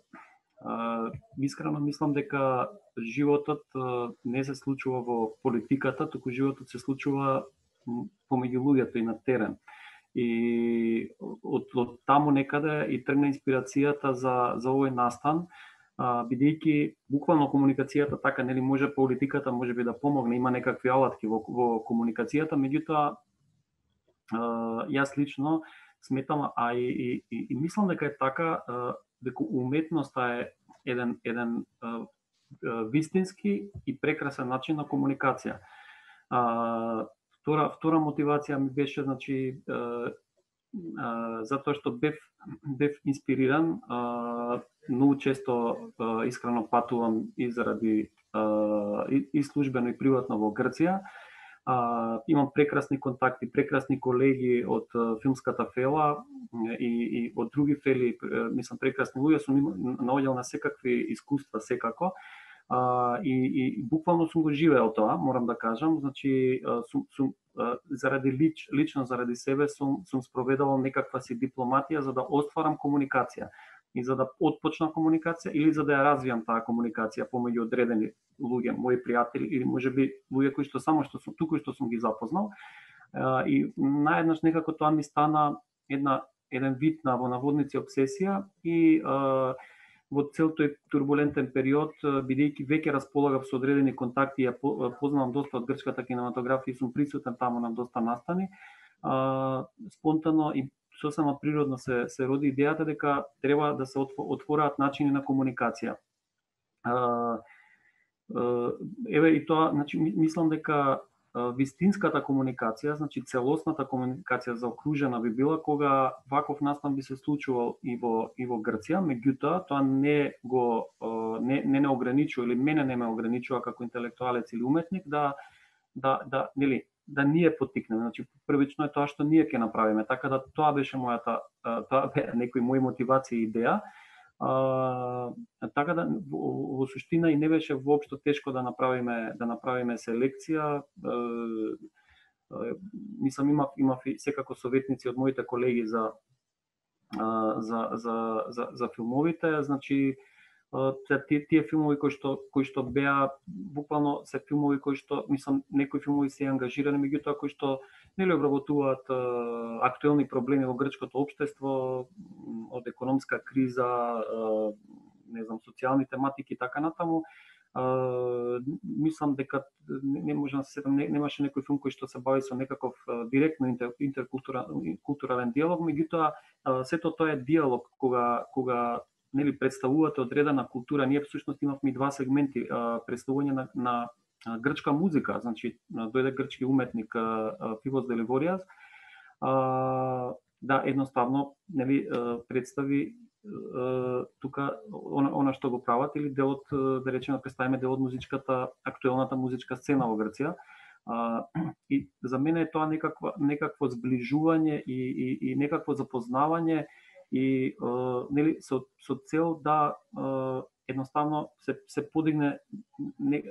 а, искрено мислам дека животот а, не се случува во политиката, туку животот се случува помеѓу луѓето и на терен. И од, од таму некаде и тргна инспирацијата за, за овој настан, бидејќи буквално комуникацијата така, нели може политиката може би да помогне, има некакви алатки во, во комуникацијата, меѓутоа јас лично сметам, а и, и, и, и мислам дека е така, дека уметноста е еден, еден вистински и прекрасен начин на комуникација. Втора, втора мотивација ми беше, значи, е, е, затоа што бев, бев инспириран, е, многу често е, искрено патувам и заради е, и, и службено и приватно во Грција. Е, имам прекрасни контакти, прекрасни колеги од филмската фела и, и од други фели, мислам прекрасни луѓе, сум наоѓал на секакви искуства секако. Uh, и, и буквално сум го живеел тоа, морам да кажам, значи uh, сум, сум uh, заради лич, лично заради себе сум, сум спроведувал некаква си дипломатија за да остварам комуникација и за да отпочна комуникација или за да ја развијам таа комуникација помеѓу одредени луѓе, мои пријатели или можеби луѓе кои што само што сум туку што сум ги запознал. Uh, и наеднаш некако тоа ми стана една еден вид на во наводници обсесија и uh, во цел тој турбулентен период, бидејќи веќе располагав со одредени контакти, ја познавам доста од грчката кинематографија и сум присутен таму на доста настани, спонтано и сосема природно се, се роди идејата дека треба да се отвораат начини на комуникација. Еве и тоа, значи, мислам дека вистинската комуникација, значи целосната комуникација заокружена би била кога ваков настан би се случувал и во и во Грција, меѓутоа тоа не го не не не ограничува или мене не ме ограничува како интелектуалец или уметник да да да нели да ние поттикнеме. Значи првично е тоа што ние ќе направиме, така да тоа беше мојата тоа бе некои мои мотивации и идеја. Uh, така да во, во суштина и не беше воопшто тешко да направиме да направиме селекција. Uh, uh, мислам имав имав и секако советници од моите колеги за uh, за за за за филмовите, значи тие, тие филмови кои што кои што беа буквално се филмови кои што мислам некои филмови се ангажирани, меѓутоа кои што нели обработуваат актуелни проблеми во грчкото општество, од економска криза, не знам, социјални тематики и така натаму. Uh, мислам дека не, не можам да се сетам, не, немаше некој филм кој што се бави со некаков uh, директно интер, интеркултурален диалог, меѓутоа uh, сето тоа е диалог кога кога нели представувате одредена култура. Ние всушност имавме два сегменти, uh, представување на, на грчка музика, значи дојде грчки уметник uh, Фивос Деливоријас, uh, да едноставно нели uh, представи тука она, она што го прават или делот, да речеме, представиме дел од музичката, актуелната музичка сцена во Грција. А, и за мене е тоа некаква, некакво зближување и, и, и некакво запознавање и а, нели, со, со цел да а, едноставно се, се подигне не,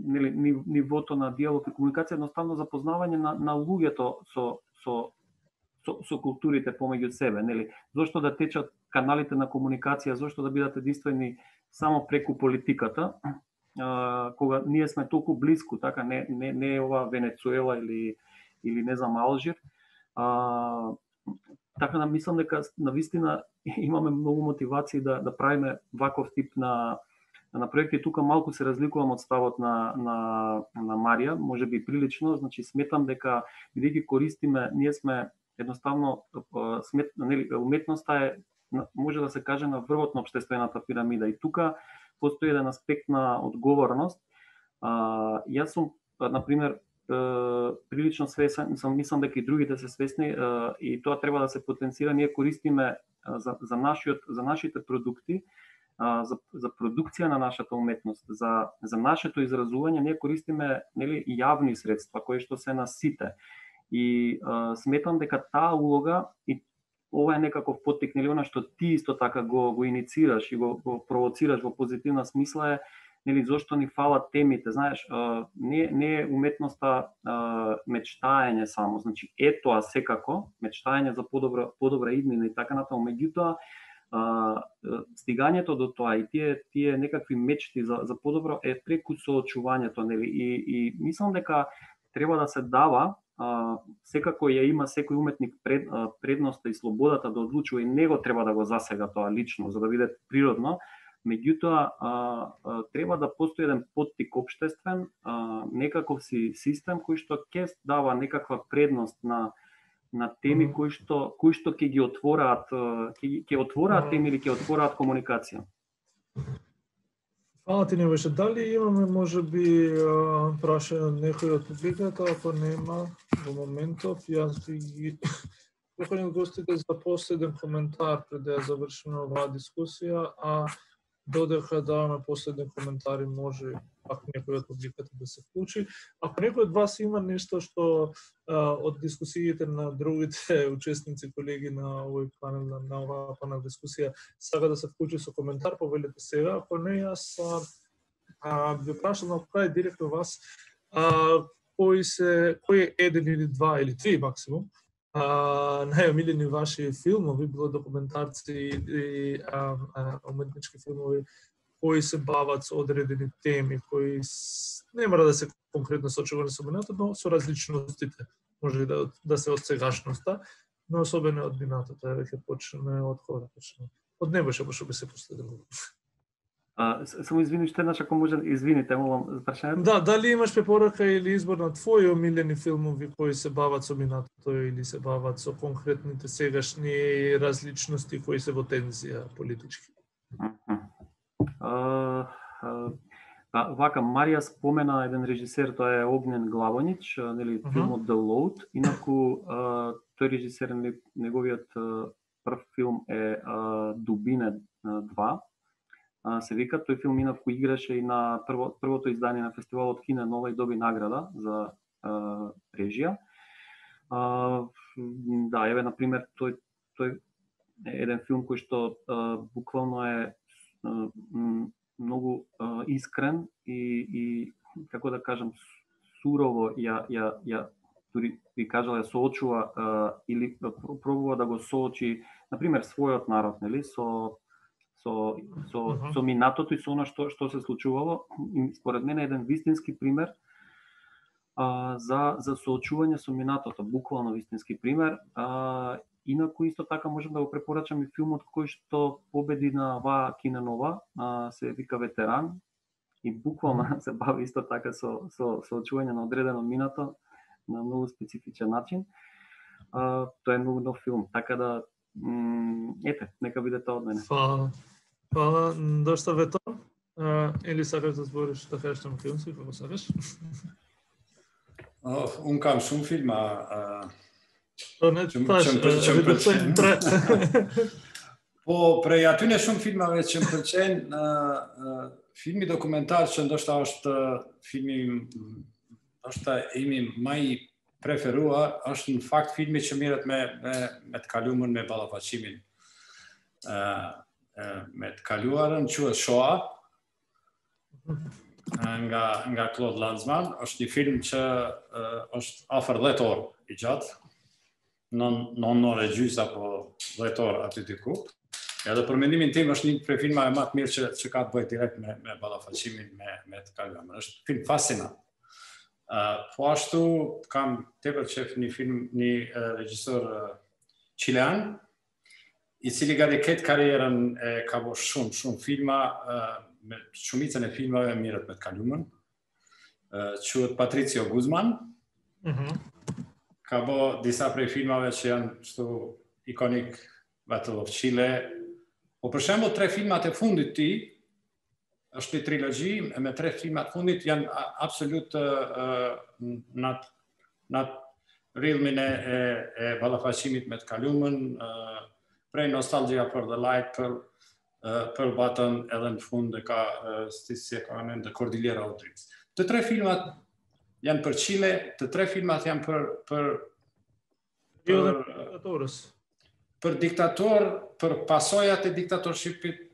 нели, нивото на диалог и комуникација, едноставно запознавање на, на луѓето со, со Со, со културите помеѓу себе, нели? Зошто да течат каналите на комуникација, зошто да бидат единствени само преку политиката, а, кога ние сме толку близко, така не не не е ова Венецуела или или не знам Алжир. А, така да мислам дека навистина имаме многу мотивации да да правиме ваков тип на на проекти. Тука малку се разликувам од ставот на на на Марија, можеби прилично, значи сметам дека бидејќи користиме, ние сме едноставно смет, нели, уметноста е, може да се каже, на врвот на општествената пирамида и тука постои еден аспект на одговорност. А, јас сум, на пример, прилично свесен, сам мислам дека и другите се свесни а, и тоа треба да се потенцира. Ние користиме а, за за нашиот за нашите продукти, а, за за продукција на нашата уметност, за за нашето изразување, ние користиме нели јавни средства кои што се на сите. И а, сметам дека таа улога и ова е некаков поттик, нели, она што ти исто така го го иницираш и го, го провоцираш во позитивна смисла е, нели, зошто ни фалат темите, знаеш, а, не не е уметноста а, мечтаење само, значи е тоа секако, мечтаење за подобра подобра иднина и така натаму, меѓутоа а, стигањето до тоа и тие тие некакви мечти за за подобро е преку соочувањето, нели, и и мислам дека треба да се дава. Uh, секако ја има секој уметник пред, uh, предноста и слободата да одлучува и него треба да го засега тоа лично за да биде природно, меѓутоа uh, uh, треба да постои еден поттик општествен, uh, некаков си систем кој што ќе дава некаква предност на на теми mm -hmm. кои што кои што ќе ги отвораат ќе ќе отвораат mm -hmm. теми или ќе отвораат комуникација. Фала ти, Небојша. Дали имаме можеби прашање од некој од публиката? Ако нема во моментов, јас би ги поканил гостите за последен коментар пред да ја завршиме оваа дискусија, а додека даваме последни коментари, може пак некој од публиката да се вклучи. Ако некој од вас има нешто што а, од дискусиите на другите учесници, колеги на овој панел, на, на оваа панел дискусија, сака да се вклучи со коментар, повелете сега. Ако не, јас а, ви прашам на крај директно вас, а, кои се, кој е еден или два или три максимум, Uh, најомилени ваши филмови, било документарци и а, а, уметнички филмови, кои се бават со одредени теми, кои с... не мора да се конкретно сочувани со минатото, но со различностите. Може да, да се од сегашноста, но особено од минатото. Еве ќе почнеме од хора, почнеме. Од Небојша, пошто би се последило. А, само извини, уште еднаш ако може, извините, молам, прашањето. Да, дали имаш препорака или избор на твои омилени филмови кои се бават со минатото или се бават со конкретните сегашни различности кои се во тензија политички? А, а, а, вака, Марија спомена еден режисер, тоа е Огнен Главонич, нели, филмот The Load. Инаку, а, тој режисер, неговиот прв филм е а, Дубине два. Се вика, тој филм инаку играше и на прво, првото издание на фестивалот Кине Нова и доби награда за а, режија. А, да, еве, например, тој, тој е еден филм кој што а, буквално е а, многу а, искрен и, и, како да кажам, сурово ја, ја, ја дури би кажала, ја соочува а, или пробува да го соочи, например, својот народ, нели, со со со Uh -huh. со минатото и со она што што се случувало. И според мене еден вистински пример а, за за соочување со минатото, буквално вистински пример. А, инаку исто така можам да го препорачам и филмот кој што победи на Ваа Киненова, а, се вика Ветеран и буквално се бави исто така со со соочување на одредено минато на многу специфичен начин. А, тоа е многу нов филм, така да м, ете, нека биде тоа од мене. Фала. Фала, дошта Вето. Uh, или сакаш да збориш, да кажеш на македонски, како сакаш? Oh, un kam shumë filma. Uh, Тоа не Që- таsh, që më pël- që më pëlqen. тре. Po, prej atyne shumë filmave që më pëlqejnë, uh, uh, filmi dokumentar që ndoshta është uh, filmi mm, ndoshta imi më i preferuar, është në fakt filmi që mirët me me me të kalumën me ballafaqimin. Uh, uh, me të kaluarën quhet Shoah. Uh, nga nga Claude Lanzmann, është një film që uh, është afër dhjetë orë i gjatë. Non non orë e gjys apo dhjetë orë aty diku. Edhe për mendimin tim është një prej filmave më të mirë që që ka të bëjë direkt me me ballafaqimin me me të kaluarën. Është film fascinant. Uh, po ashtu kam tepër qef një film, një uh, regjisor uh, chilean, i cili gati ketë karrierën e ka bo shumë, shumë filma, uh, me shumicën e filmave mirët me të kalumën. Uh, quhet Patricio Guzman, Mhm. ka bo disa prej filmave që janë kështu ikonik, Battle of Chile. Po për shembull tre filmat e fundit ti, është një trilogji, e me tre filmat fundit janë a- absolut uh, nat nat rrillmin e e, e ballafaqimit me të kalumën, uh, prej Nostalgia for the Light për uh, për batën edhe në fund e ka uh, si si e ka emrin The Cordillera of Dreams. Të tre filmat janë për Chile, të tre filmat janë për për Jo dhe për, diktatorës. për diktator, për pasojat e diktatorshipit,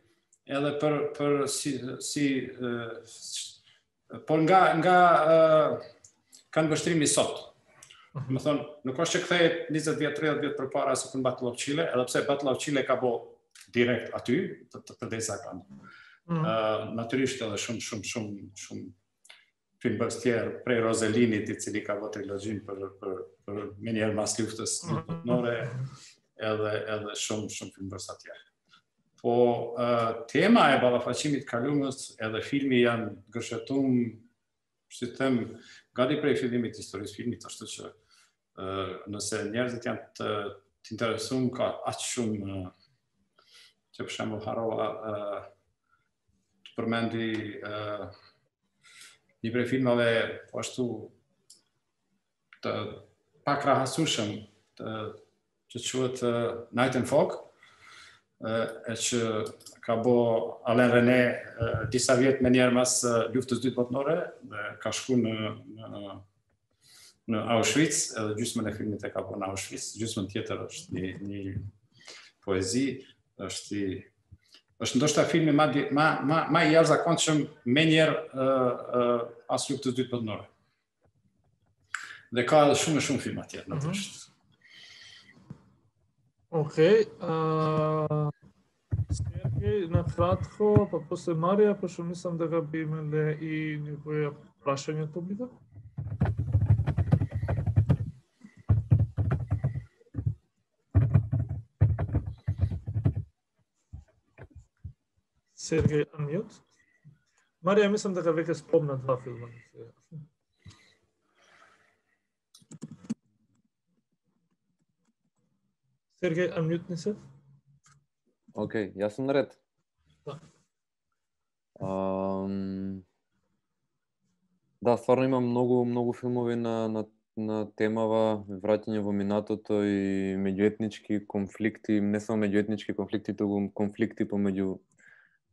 edhe për për si si uh, por nga nga uh, kanë vështrimi sot. Më thonë, nuk është që kthehet njëzet vjet, tridhjetë vjet përpara se për Battle of Chile, edhe pse Battle of Chile ka bo direkt aty, të, të përdesa kanë. Mhm. Uh, natyrisht edhe shumë shumë shumë shumë filmës tjerë, prej Roselinit, i cili ka bo trilogjin për për për menjëherë mas luftës botërore, edhe edhe shumë shumë filmës tjerë. Po uh, tema e ballafaqimit kalumës edhe filmi janë gërshetum, si të them, gati prej fillimit të historisë filmit, ashtu që uh, nëse njerëzit janë të, të interesuar, ka aq shumë uh, që për shembull harova uh, të përmendi uh, një prej filmave po ashtu të pak rahasueshëm të që quhet uh, Night and Fog, uh, e që ka bo Alain René uh, disa vjet me njerë mas uh, luftës dytë botërore dhe ka shku në, në, në Auschwitz, edhe gjysmën e filmit e ka bo në Auschwitz, gjysmën tjetër është një, një poezi, është i është ndoshta filmi ma, di- ma, ma, ma i jashtëzakonshëm me njerë uh, uh, pas luftës dytë botërore. Dhe ka edhe shumë e shumë filma tjerë, natyrisht. Окей. А, Сергеј, на кратко, па после Марија, пошто мислам дека би имале и некоја прашање од публика. Сергеј, unmute. Марија, мислам дека веќе спомна два филма. Сергеј, unmute не се? Океј, јас сум наред. Да. Ам, Да, стварно има многу многу филмови на на на темава враќање во минатото и меѓуетнички конфликти, не само меѓуетнички конфликти, туку конфликти помеѓу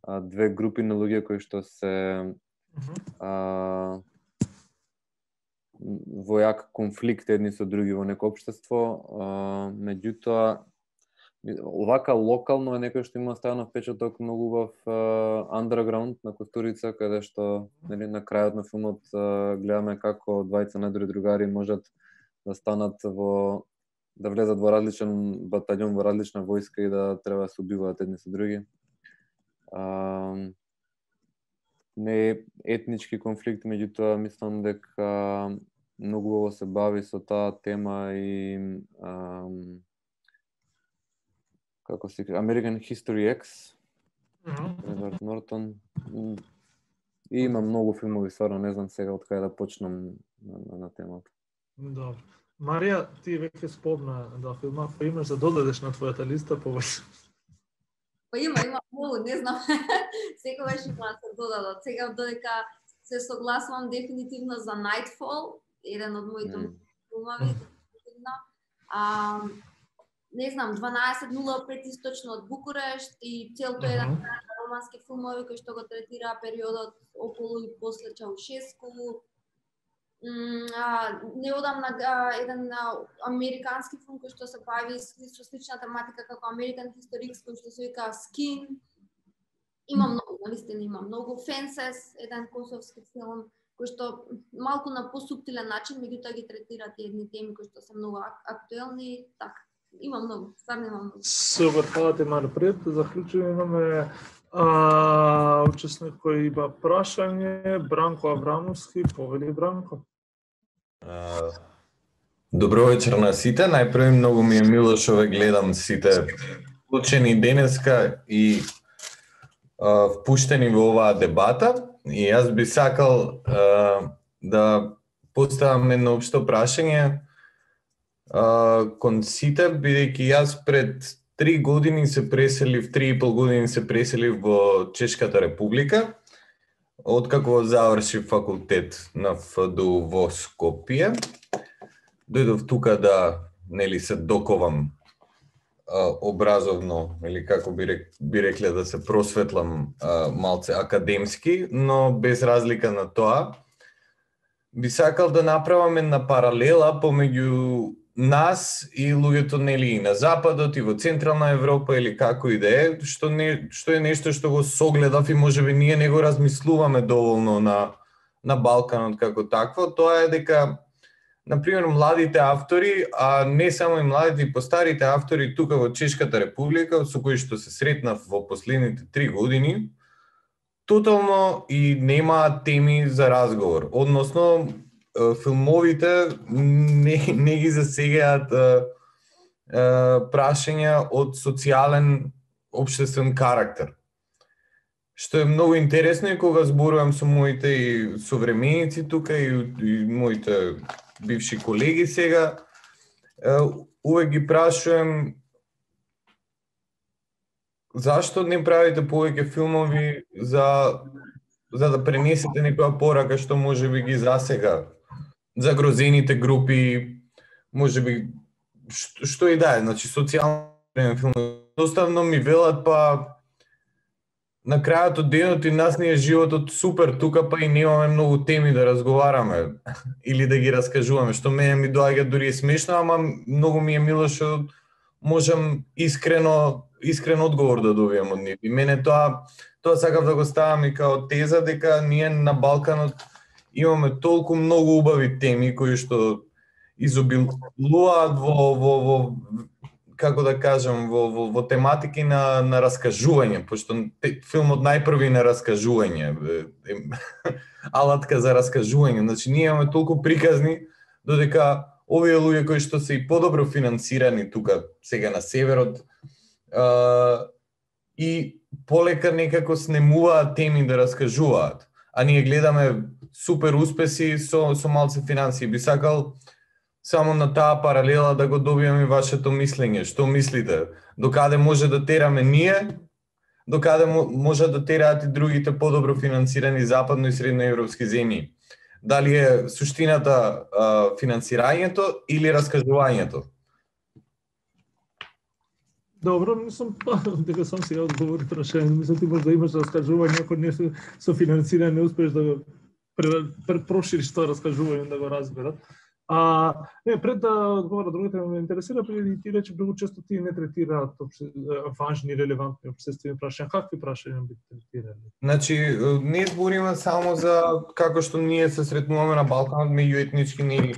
а, две групи на луѓе кои што се Мгм. а, во јак конфликт едни со други во неко општество, а, меѓутоа овака локално е некој што има оставено впечаток многу убав underground на Костурица, каде што нели на крајот на филмот а, гледаме како двајца најдобри другари можат да станат во да влезат во различен батаљон, во различна војска и да треба да се убиваат едни со други. а, не е етнички конфликт, меѓутоа мислам дека многу убаво се бави со таа тема и а, како се American History X, Едвард Нортон. И има многу филмови, стварно не знам сега од каде да почнам на, на, на темата. Добро. Марија, ти веќе спомна да филма, па имаш да додадеш на твојата листа повеќе? Па има, има многу, не знам. Секогаш има да се додадат. Сега додека се согласувам дефинитивно за Nightfall, еден од моите mm. филмови, дефинитивно. А, не знам, дванаесет нула пет источно од Букурешт и целото uh-huh. еден романски филмови кој што го третира периодот околу и после Чаушеску. А, неодамна еден американски филм кој што се бави со слична тематика како American History X, кој што се вика Skin. Има многу, на листина има многу. Fences, еден косовски филм кој што малку на посуптилен начин, меѓутоа ги третираат едни теми кои што се многу актуелни, така. Има многу, стварно има многу. Супер, фала ти Мари. Пред да заклучиме имаме а, учесник кој има прашање, Бранко Аврамовски, повели Бранко. Uh, добро вечер на сите. Најпрво многу ми е мило што ве гледам сите вклучени денеска и uh, впуштени во оваа дебата. И јас би сакал uh, да поставам едно општо прашање uh, кон сите, бидејќи јас пред три години се преселив, три и пол години се преселив во Чешката република. Откако завршив факултет на Ф Д У во Скопје, дојдов тука да, нели, се доковам а, образовно, или како би, рек, би рекле да се просветлам а, малце академски, но без разлика на тоа, би сакал да направам една паралела помеѓу нас и луѓето, нели, и на Западот, и во Централна Европа, или како и да е, што, не, што е нешто што го согледав и можеби ние не го размислуваме доволно на, на Балканот како такво, тоа е дека, например, младите автори, а не само и младите, и постарите автори тука во Чешката република, со кои што се сретнав во последните три години, тотално и немаат теми за разговор. Односно, филмовите не, не ги засегаат прашања од социјален, општествен карактер. Што е многу интересно и кога зборувам со моите и современици тука и, и моите бивши колеги сега, увек ги прашувам зашто не правите повеќе филмови за, за да пренесете некоја порака што можеби ги засега загрозените групи, можеби што, што и да е, значи социјални филмови. Доставно ми велат, па на крајот од денот и нас не е животот супер тука, па и немаме многу теми да разговараме или да ги раскажуваме, што мене ми доаѓа дури е смешно, ама многу ми е мило што можам искрено искрен одговор да добијам од нив. И мене тоа тоа сакав да го ставам и као теза дека ние на Балканот имаме толку многу убави теми кои што изобилуваат во во во како да кажам во во, во тематики на на раскажување, пошто филмот најпрви на раскажување, алатка за раскажување. Значи ние имаме толку приказни додека овие луѓе кои што се и подобро финансирани тука сега на северот uh, и полека некако снемуваат теми да раскажуваат. А ние гледаме супер успеси со со малце финансии. Би сакал само на таа паралела да го добиеме вашето мислење. Што мислите? Докаде може да тераме ние? Докаде може да тераат и другите подобро финансирани западно и средноевропски земји? Дали е суштината а, финансирањето или раскажувањето? Добро, мислам, дека сам сега одговори прашање. Мислам, ти може да имаш раскажување, ако не со финансирање не успеш да го прошириш тоа раскажување, да го разберат. А, не, пред да одговора другите ме интересира, преди ти рече, многу често ти не третираат важни, релевантни општествени прашања. Какви прашања би третирали? Значи, не збориме само за како што ние се сретнуваме на Балканот меѓуетнички нели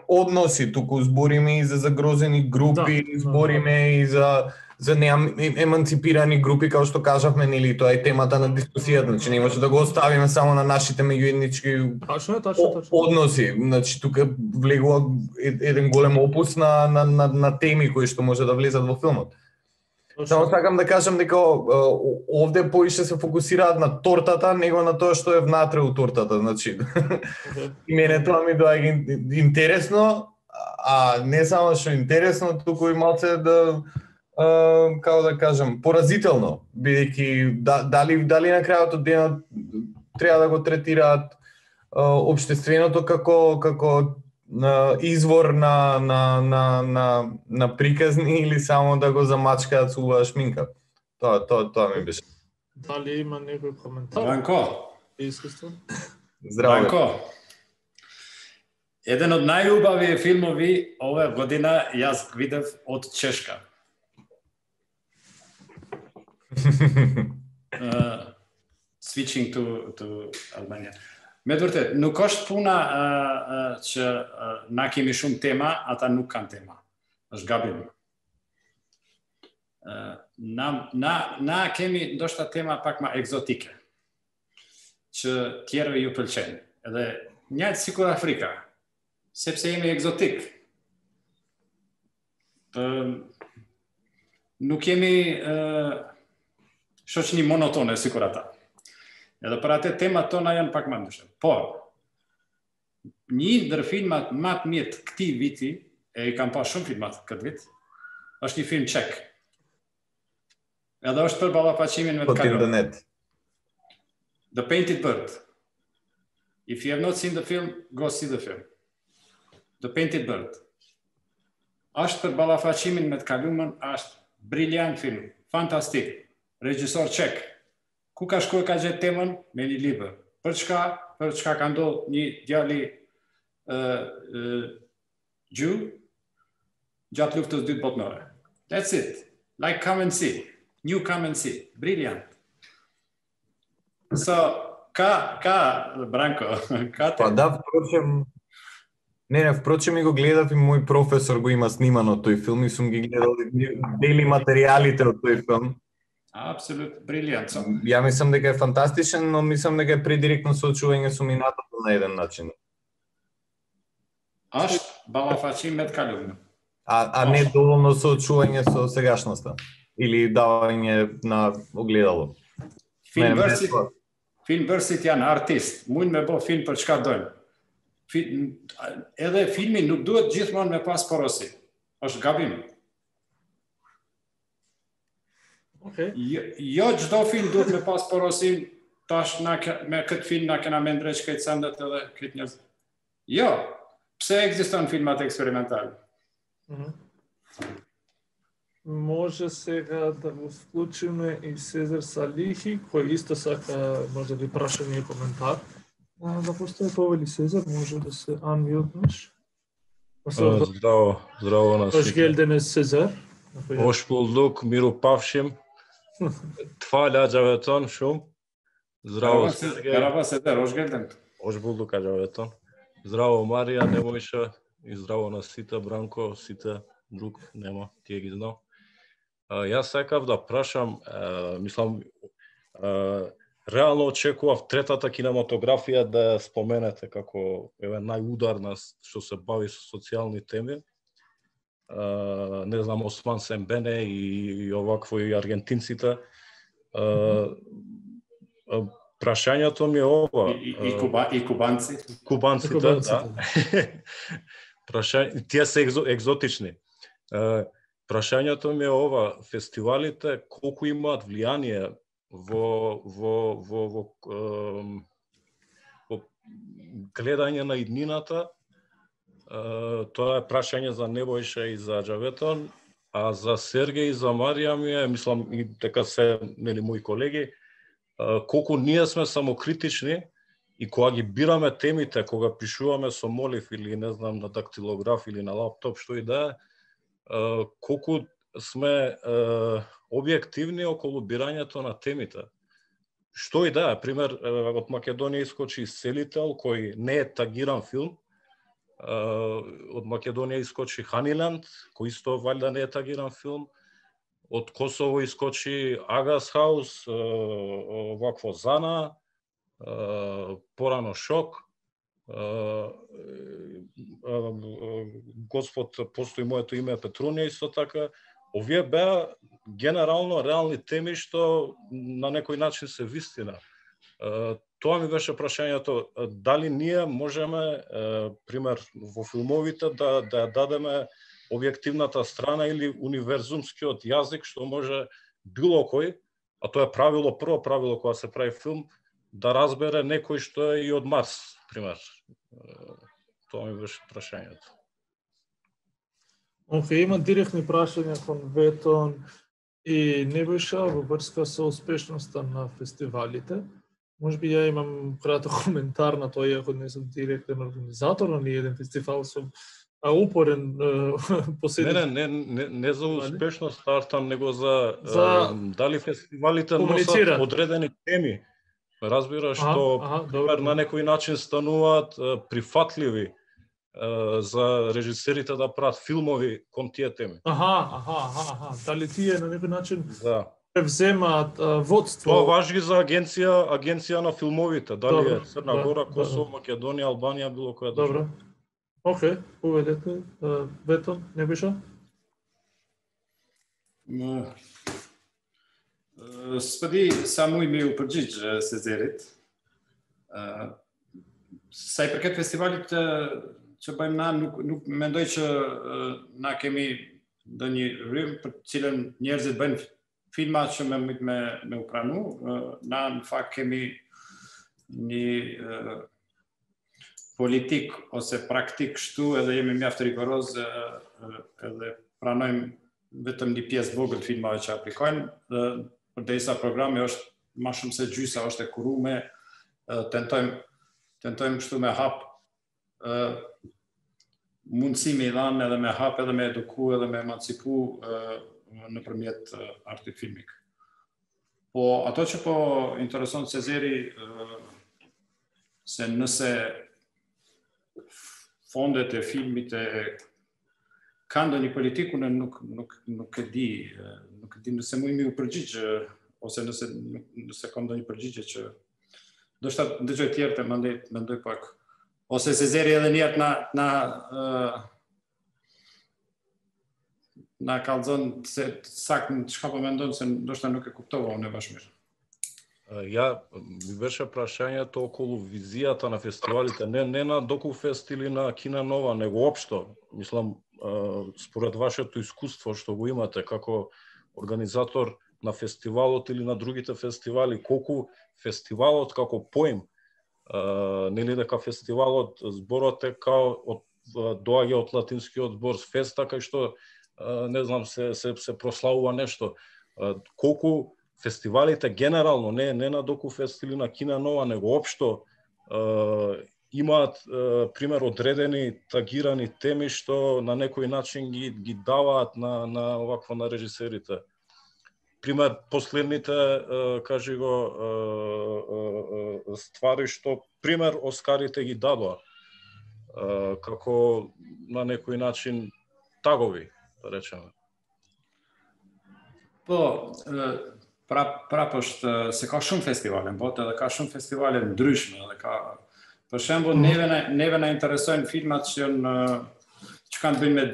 односи, туку збориме и за загрозени групи, да, збориме да. и за за нееманципирани групи, како што кажавме, нели, тоа е темата на дискусијата, значи не може да го оставиме само на нашите меѓуетнички Точно е, точно, точно. односи. Значи тука влегува еден голем опус на на на, на теми кои што може да влезат во филмот. Само сакам да кажам дека овде поише се фокусираат на тортата, него на тоа што е внатре у тортата, значи. И мене тоа ми доаѓа интересно, а не само што интересно, туку и малце да Uh, како да кажам, поразително, бидејќи да, дали дали на крајот од денот треба да го третираат uh, општественото како како uh, извор на на на на на приказни или само да го замачкаат со убава шминка. Тоа тоа тоа ми беше. Дали има некој коментар? Бранко. Искуство. Здраво. Бранко. Еден од најубави филмови оваа година јас видев од Чешка. uh, switching to to Albania. Međutim, nuk është puna uh, uh, që uh, na kemi shumë tema, ata nuk kanë tema. Është gabim. Uh, na, na, na kemi ndoshta tema pak ma egzotike, që tjerëve ju pëlqejnë. Edhe njëjtë sikur Afrika, sepse jemi egzotik. Uh, nuk jemi uh, shoqni monotone sikur ata. Edhe për atë temat tona janë pak më ndryshe. Por, një ndër filmat më të mirë të këtij viti, e i kam pa shumë filmat këtë vit, është një film çek. Edhe është për ballafaqimin me të kaluar. The Painted Bird. If you have not seen the film, go see the film. The Painted Bird. Është për ballafaqimin me të kaluarën, është briljant film, fantastik. Regjisor çek. Ku ka shkuar ka gjetë temën me një libër. Për çka? Për çka ka ndodhur një djali ë uh, Jew gjatë luftës dytë botërore. That's it. Like come and see. You come and see. Brilliant. So, ka, ka, Branko, ka Па да, впрочем, не, не, впрочем и го гледав и мој професор го има снимано тој филм и сум ги гледал дели материјалите од тој филм. Апсолутно, брилијант. Ја мислам дека е фантастичен, но мислам дека е предиректно соочување со минатото на еден начин. Ашт балафачи мет калумно. А, а не доволно соочување со сегашноста или давање на огледало. Филмберсит, филмберсит janë артист, mund me bë film për çka dojnë. Edhe filmi nuk duhet gjithmonë me pas porosi. Është gabim. Okay. Jo, jo çdo film duhet me pas porosin, tash na me këtë film na kena me ndreq këtë sandet edhe këtë njerëz. Jo, pse ekziston filmat eksperimentale? Mm-hmm. Може сега да го вклучиме и Сезар Салихи, кој исто сака може да прашање и коментар. А, да постои повели Сезар, може да се unmute-неш. Здраво, здраво на сите. Hoş geldiniz Сезар. Hoş bulduk, Miro Pavšim. Tfal Acaveton shumë. Zdravo Sergej. Merhaba Sezer, hoş geldin. Hoş bulduk Acaveton. Zdravo Marija Nemojša и здраво на сите, Бранко, сите друг нема, тие ги знам. Uh, јас сакав да прашам, uh, мислам, uh, реално очекував третата кинематографија да споменете како еве најударна што се бави со социјални теми. Uh, не знам, Осман Сембене и, и овакво и аргентинците. Uh, uh, прашањето ми е ова. И, и, и, куба, и кубанци. Кубанците, кубанците. Да. Прашање, тие се екзо, екзотични. Uh, Прашањето ми е ова, фестивалите колку имаат влијание во во во во, во, во гледање на иднината. Тоа е прашање за Небојша и за Аџаветон, а за Сергеј и за Марија ми е, мислам и дека се нели мои колеги, колку ние сме самокритични и кога ги бираме темите, кога пишуваме со молив или не знам на дактилограф или на лаптоп, што и да е, Uh, колку сме uh, објективни околу бирањето на темите. Што и да е, пример, uh, од Македонија искочи Селител, кој не е тагиран филм. Uh, од Македонија искочи Ханиленд, кој исто валјда не е тагиран филм. од Косово искочи Агас Хаус, вакво Зана, порано Шок, Господ постои моето име Петрунија исто така. Овие беа генерално реални теми што на некој начин се вистина. Тоа ми беше прашањето, дали ние можеме, пример, во филмовите да да ја дадеме објективната страна или универзумскиот јазик што може било кој, а тоа е правило, прво правило кога се прави филм, да разбере некој што е и од Марс, пример. Тоа ми беше прашањето. Океј, има директни прашања кон Ветон и Небојша во врска со успешноста на фестивалите. Можеби ја имам краток коментар на тоа, иако не сум директен организатор на ниеден фестивал, сум а упорен последни... Не, не, не, не за успешност стартам, него за, за... дали фестивалите носат одредени теми. Разбираш, што пример на некој начин стануваат прифатливи за режисерите да прават филмови кон тие теми. Аха, аха, аха, аха. Дали тие на некој начин да превземаат водство? Тоа важи за агенција, агенција на филмовите, дали добро, е Црна да, Гора, Косово, да, Македонија, Албанија, било која држава. Добро. Океј, поведете. Ветон, Небојша? Спади само име упрџич Сезерит. Сај прекет фестивалите që bëjmë na nuk nuk mendoj që na kemi ndonjë rrym për të cilën njerëzit bëjnë filma që me me me u pranu. Na në fakt kemi një politik ose praktik kështu edhe jemi mjaft rigoroz edhe pranojmë vetëm një pjesë vogël të filmave që aplikojnë. Përderisa programi është më shumë se gjysa është e kurume, tentojmë tentojmë kështu me hap mundësi me i dhanë edhe me hap edhe me eduku edhe me emancipu nëpërmjet artit filmik. Po ato që po intereson Cezeri, se nëse fondet e filmit e kanë ndonjë politiku, në nuk nuk nuk e di, nuk e di nëse mu imi u përgjigj ose nëse nëse kam ndonjë përgjigje që do shta dëgjoj tjerë të mendoj mendoj pak. Ose Cezeri edhe njerët na na uh, na kallëzon se sakt çka po mendon se ndoshta nuk e kuptova unë bash mirë. Ja, ми беше прашањето околу визијата на фестивалите, не не на Докуфест или на Кина Нова, него општо. Мислам, според вашето искуство што го имате како организатор на фестивалот или на другите фестивали, колку фестивалот како поим, нели дека фестивалот, зборот е као од доаѓа од латинскиот збор феста, кај што не знам се се се прославува нешто. Колку фестивалите генерално, не не на Докуфест или на Кина Нова, него општо имаат пример одредени тагирани теми што на некој начин ги ги даваат на на овакво на режисерите. Пример, последните, кажи го, ствари што, пример, Оскарите ги дадоа, како на некој начин тагови, да речеме. Po, prap prap është se ka shumë festivale në botë dhe ka shumë festivale ndryshme dhe ka për shembull neve na neve na interesojnë filmat që janë që kanë bënë me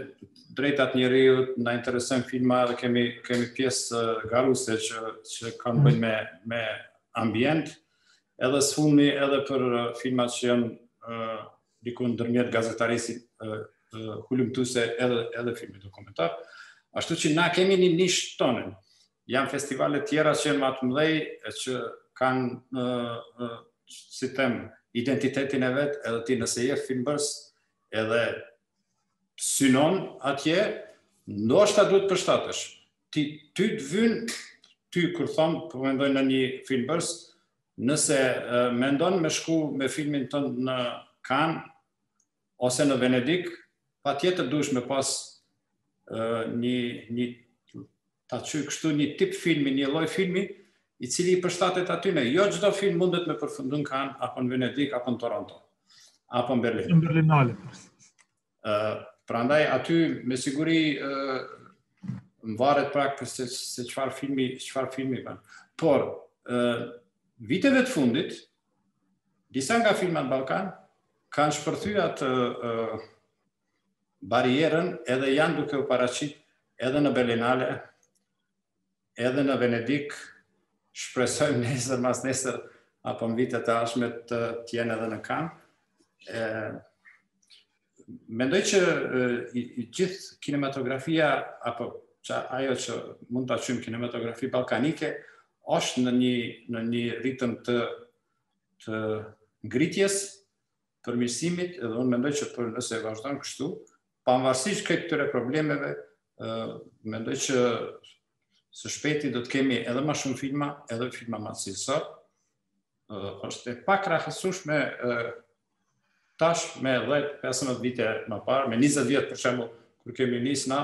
drejtat njerëzit, na interesojnë filma dhe kemi kemi pjesë garuese që që kanë bënë me me ambient, edhe sfulmi edhe për filmat që janë uh, diku ndërmjet gazetarisë uh, uh, hulumtuese edhe edhe filmi dokumentar. Ashtu që na kemi një nishë tonën. Janë festivale tjera që janë më të mëdhej, që kanë, uh, uh, si them, identitetin e vet, edhe ti nëse je filmbërës, edhe synon atje, ndoshta duhet përshtatesh. Ti ty të vyn, ty kur thon, po mendoj në një filmbërës, nëse uh, mendon me shku me filmin tënd në Cannes ose në Venedik, patjetër duhesh me pas uh, një një ta çoj kështu një tip filmi, një lloj filmi i cili i përshtatet atyne. Jo çdo film mundet me përfundu në Cannes apo në Venedik apo në Toronto apo në Berlin. Në Berlinale. Uh, prandaj aty me siguri uh, varet praktiskt se, se çfarë filmi, çfarë filmi bën. Por uh, viteve të fundit, disa nga filmat Ballkan kanë shpërthyer atë uh, barierën edhe janë duke u paraqit edhe në Berlinale, edhe në Venedik, shpresojmë nesër, mas nesër, apo në vitet e ardhshme të jenë edhe në Cannes. Mendoj që i, i gjithë kinematografia, apo që ajo që mund ta quajmë kinematografi ballkanike, është në një në një ritëm të të ngritjes, përmirësimit, edhe unë mendoj që për nëse vazhdon kështu, pavarësisht këtyre problemeve, uh, mendoj që së shpejti do të kemi edhe më shumë filma, edhe filma më cilësor. Uh, është e pakrahasueshme uh, tash me dhjetë pesëmbëdhjetë vite më parë, me njëzet vjet për shembull, kur kemi nis na,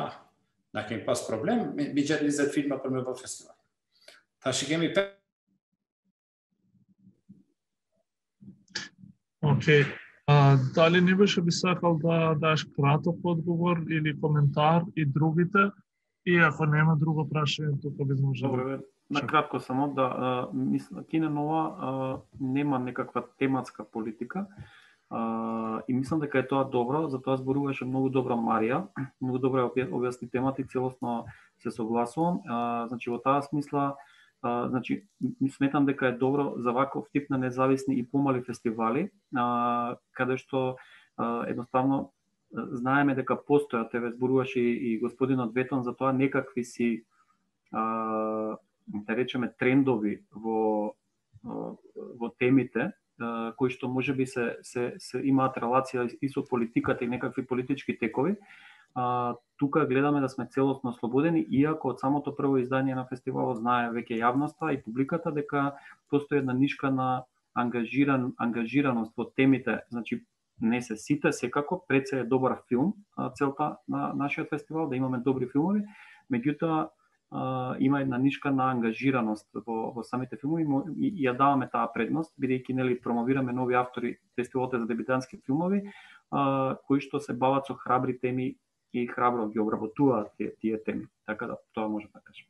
na kemi pas problem me gjetë njëzet filma për me bërë festival. Tash kemi pe... Окей. А, дали не беше би сакал да даш краток одговор или коментар и другите? И ако нема друго прашање, тука би можело. Добре, на кратко само да мисля, Кине Нова нема некаква тематска политика. Uh, и мислам дека е тоа добро, затоа зборуваше многу добро Марија, многу добро објасни темата и целосно се согласувам. Uh, значи во таа смисла, uh, значи сметам дека е добро за ваков тип на независни и помали фестивали, uh, каде што uh, едноставно знаеме дека постојат, еве зборуваше и, и господинот Ветон за тоа некакви си uh, да речеме трендови во uh, во темите, кои што можеби се, се, се имаат релација и со политиката и некакви политички текови. А, тука гледаме да сме целосно слободени, иако од самото прво издание на фестивалот знае веќе јавноста и публиката дека постои една нишка на ангажиран, ангажираност во темите. Значи, не се сите, секако, пред се е добар филм, целта на нашиот фестивал, да имаме добри филмови, меѓутоа Uh, има една нишка на ангажираност во, во самите филмови и, и ја даваме таа предност, бидејќи нели промовираме нови автори, фестивалот за дебютантски филмови, uh, кои што се бават со храбри теми и храбро ги обработуваат тие, тие теми. Така да тоа може да кажем.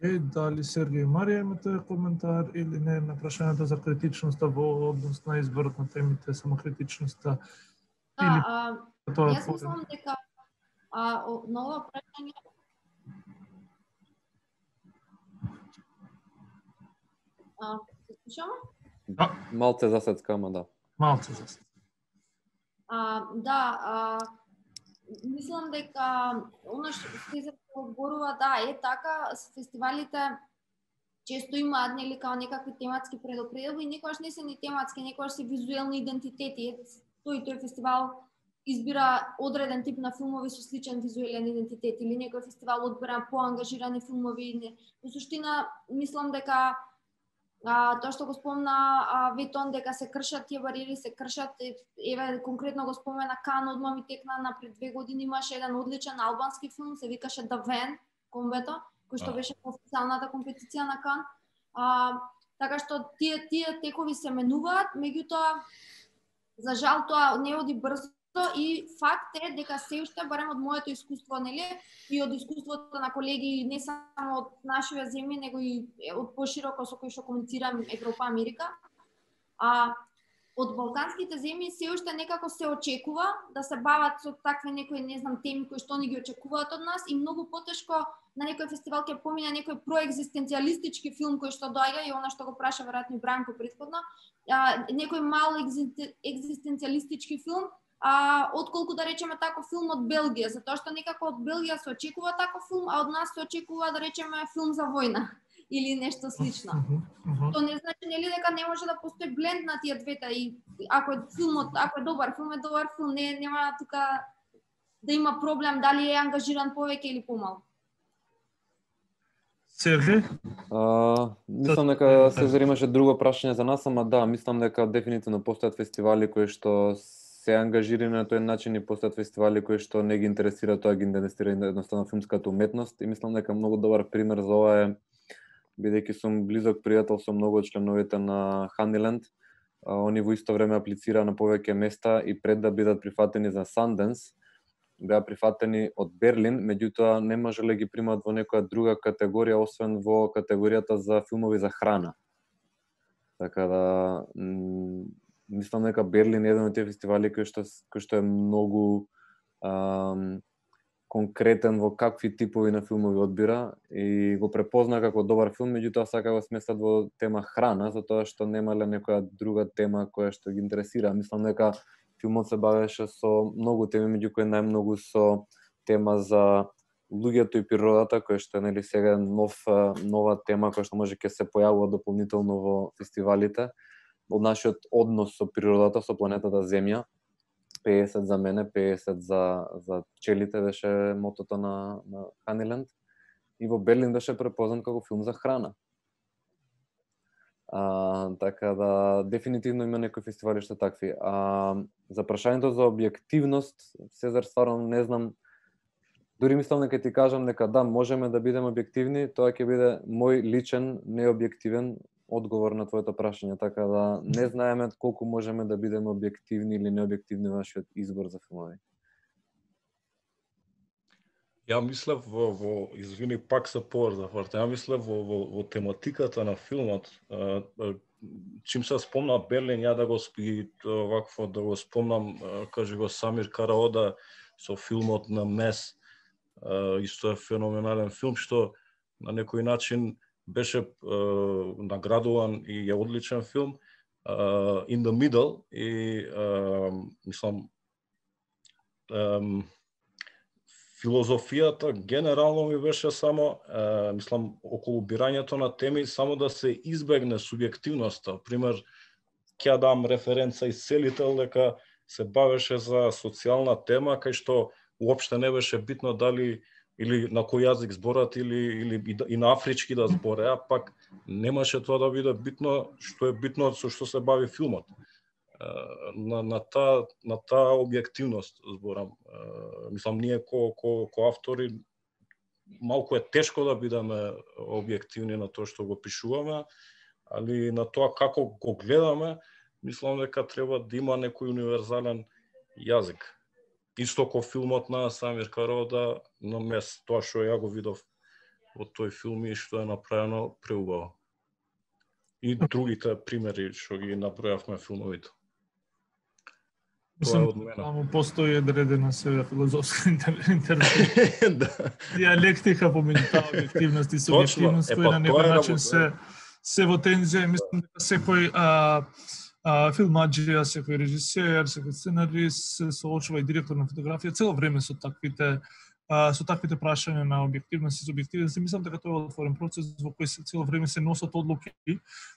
Е, дали Сергеј и Марија имате коментар или не на прашањето за критичноста во однос на изборот на темите, самокритичноста? Да, или... а, тоа јас мислам дека а, на ова прашање А, се слушаме? Да. Малце засецкама, да. Малце засецкама. А, да, а, мислам дека оно што се зборува, да, е така, фестивалите често имаат нели као некакви тематски предопределби и некогаш не се ни тематски, некогаш се визуелни идентитети. Тој тој фестивал избира одреден тип на филмови со сличен визуелен идентитет или некој фестивал одбира поангажирани филмови. Во суштина мислам дека А, тоа што го спомна а, Ветон дека се кршат тие бариери, се кршат, еве конкретно го спомена Кан, одма ми текна на пред две години имаше еден одличен албански филм, се викаше The Van, комбето, кој што беше по официјалната компетиција на Кан. А, така што тие тие текови се менуваат, меѓутоа за жал тоа не оди брзо и факт е дека се уште, барем од моето искуство, нели, и од искуството на колеги не само од нашите земји, него и од пошироко со кои што комуницирам Европа, Америка, а од балканските земји се уште некако се очекува да се бават со такви некои, не знам, теми кои што ни ги очекуваат од нас и многу потешко на некој фестивал ќе помине некој проекзистенцијалистички филм кој што доаѓа и она што го праша веројатно Бранко претходно, а, некој мал екзистенцијалистички филм, а, отколку да речеме таков филм од Белгија, затоа што некако од Белгија се очекува таков филм, а од нас се очекува да речеме филм за војна или нешто слично. Uh-huh, uh-huh. Тоа не значи нели дека не може да постои бленд на тие двете и ако е филмот, ако е добар филм, е добар филм, не нема тука да има проблем дали е ангажиран повеќе или помалку. Сергеј? Мислам дека Сезар имаше друго прашање за нас, ама да, мислам дека дефинитивно постојат фестивали кои што се ангажирани на тој начин и постојат фестивали кои што не ги интересира тоа, ги интересира едноставно филмската уметност и мислам дека многу добар пример за ова е, бидејќи сум близок пријател со многу од членовите на Honeyland, они во исто време аплицираа на повеќе места и пред да бидат прифатени за Sundance, беа прифатени од Берлин, меѓутоа не можеле ги примат во некоја друга категорија, освен во категоријата за филмови за храна. Така да, мислам дека Берлин е еден од тие фестивали кој што, кој што е многу ам, конкретен во какви типови на филмови одбира и го препозна како добар филм, меѓутоа сака го сместат во тема храна, затоа што немале некоја друга тема која што ги интересира. Мислам дека филмот се бавеше со многу теми, меѓу кои најмногу со тема за луѓето и природата, која што е нели сега нов нова тема која што може ќе се појавува дополнително во фестивалите, од нашиот однос со природата, со планетата Земја. пеесет за мене, пеесет за за пчелите беше мотото на на Ханиленд, и во Берлин беше препознат како филм за храна. А, така да дефинитивно има некои фестивали што такви. А за прашањето за објективност, Сезар, стварно не знам. Дури мислам дека ти кажам дека да, можеме да бидеме објективни, тоа ќе биде мој личен необјективен одговор на твоето прашање, така да не знаеме колку можеме да бидеме објективни или необјективни во нашиот избор за филмови. Ја мислев во, во извини, пак се поврзав, ја мислев во, во, во тематиката на филмот. Чим се спомна Берлин, ја да го спи вакво да го спомнам, кажи го Самир Караода со филмот на Мес. Исто е феноменален филм што на некој начин беше uh, наградуван и е одличен филм, uh, In the Middle, и uh, мислам um, филозофијата генерално ми беше само uh, мислам околу бирањето на теми само да се избегне субјективноста. Пример, ќе дам референца и Целител дека се бавеше за социјална тема кај што уопште не беше битно дали или на кој јазик зборат, или, или и на афрички да зборе, а пак немаше тоа да биде битно, што е битно со што се бави филмот. На, на таа на таа објективност зборам. Мислам, ние ко, ко, ко автори малку е тешко да бидеме објективни на тоа што го пишуваме, али на тоа како го гледаме, мислам дека треба да има некој универзален јазик. Исто ко филмот на Самир Караода на Мес, тоа што ја го видов во тој филм и што е направено преубаво. И другите примери што ги набројавме филмовите. Тоа е од мене. Само постои одредена сега филозофска интерпретација. Диалектика помеѓу таа објективност и субјективност која на некој начин се се во тензија. Мислам дека секој а, а, филмаџија, секој режисер, секој сценарист се соочува и директор на фотографија цело време со таквите а, со таквите прашања на објективност и субјективност. Мислам дека тоа е отворен процес во кој се цело време се носат одлуки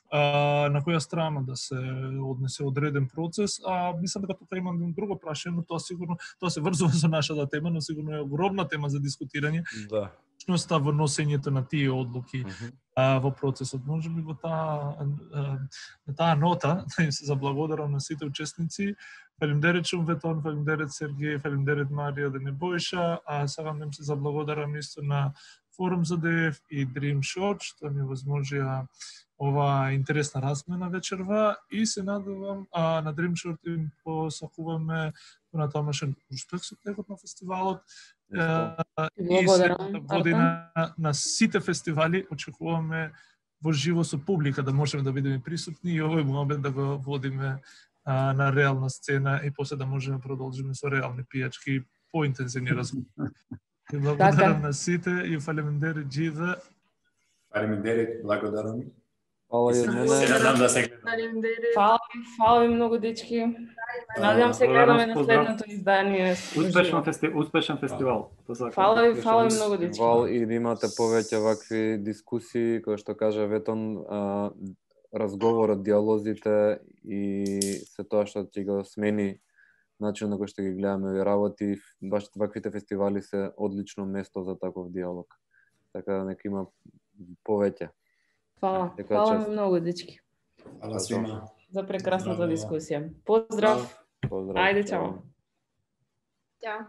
а, на која страна да се однесе одреден процес. А мислам дека тука има друго прашање, но тоа сигурно тоа се врзува со нашата тема, но сигурно е огромна тема за дискутирање. Да. Точноста во носењето на тие одлуки uh -huh. а, во процесот. Може би во таа на таа нота да им се заблагодарам на сите учесници. Фалимдерет Шумветон, фалимдерет Сергеј, фалимдерет Марија Денебојша, а сакам да им се заблагодарам исто на Форум за ДФ и Dream Shot, што ми возможија ова интересна размена вечерва, и се надевам а, на Dream Shot им посакуваме понатамошен успех со текот на фестивалот. Благодарам. Година на сите фестивали очекуваме во живо со публика да можеме да бидеме присутни и овој момент да го водиме а, на реална сцена и после да можеме продолжиме со реални пијачки поинтензивни разговори. Благодарам на сите и фалемендери Джида. Фалемендери, благодарам. Фала и од мене. Се надам да се гледаме. Фала ви, фала ви многу, дечки. Надевам се гледаме на следното издание. Успешен фестивал, успешен фестивал. Фала ви, фала ви многу, дечки. Фала и да имате повеќе вакви дискусии, кои што кажа Ветон, а, разговорот, диалозите и се тоа што ќе го смени начин на кој што ги гледаме овие работи. Баш ваквите фестивали се одлично место за таков диалог. Така да нека има повеќе. Фала, фала ми многу, дечки. Фала свима. За прекрасната дискусија. Поздрав. Поздрав. Ајде, чао. Ćao.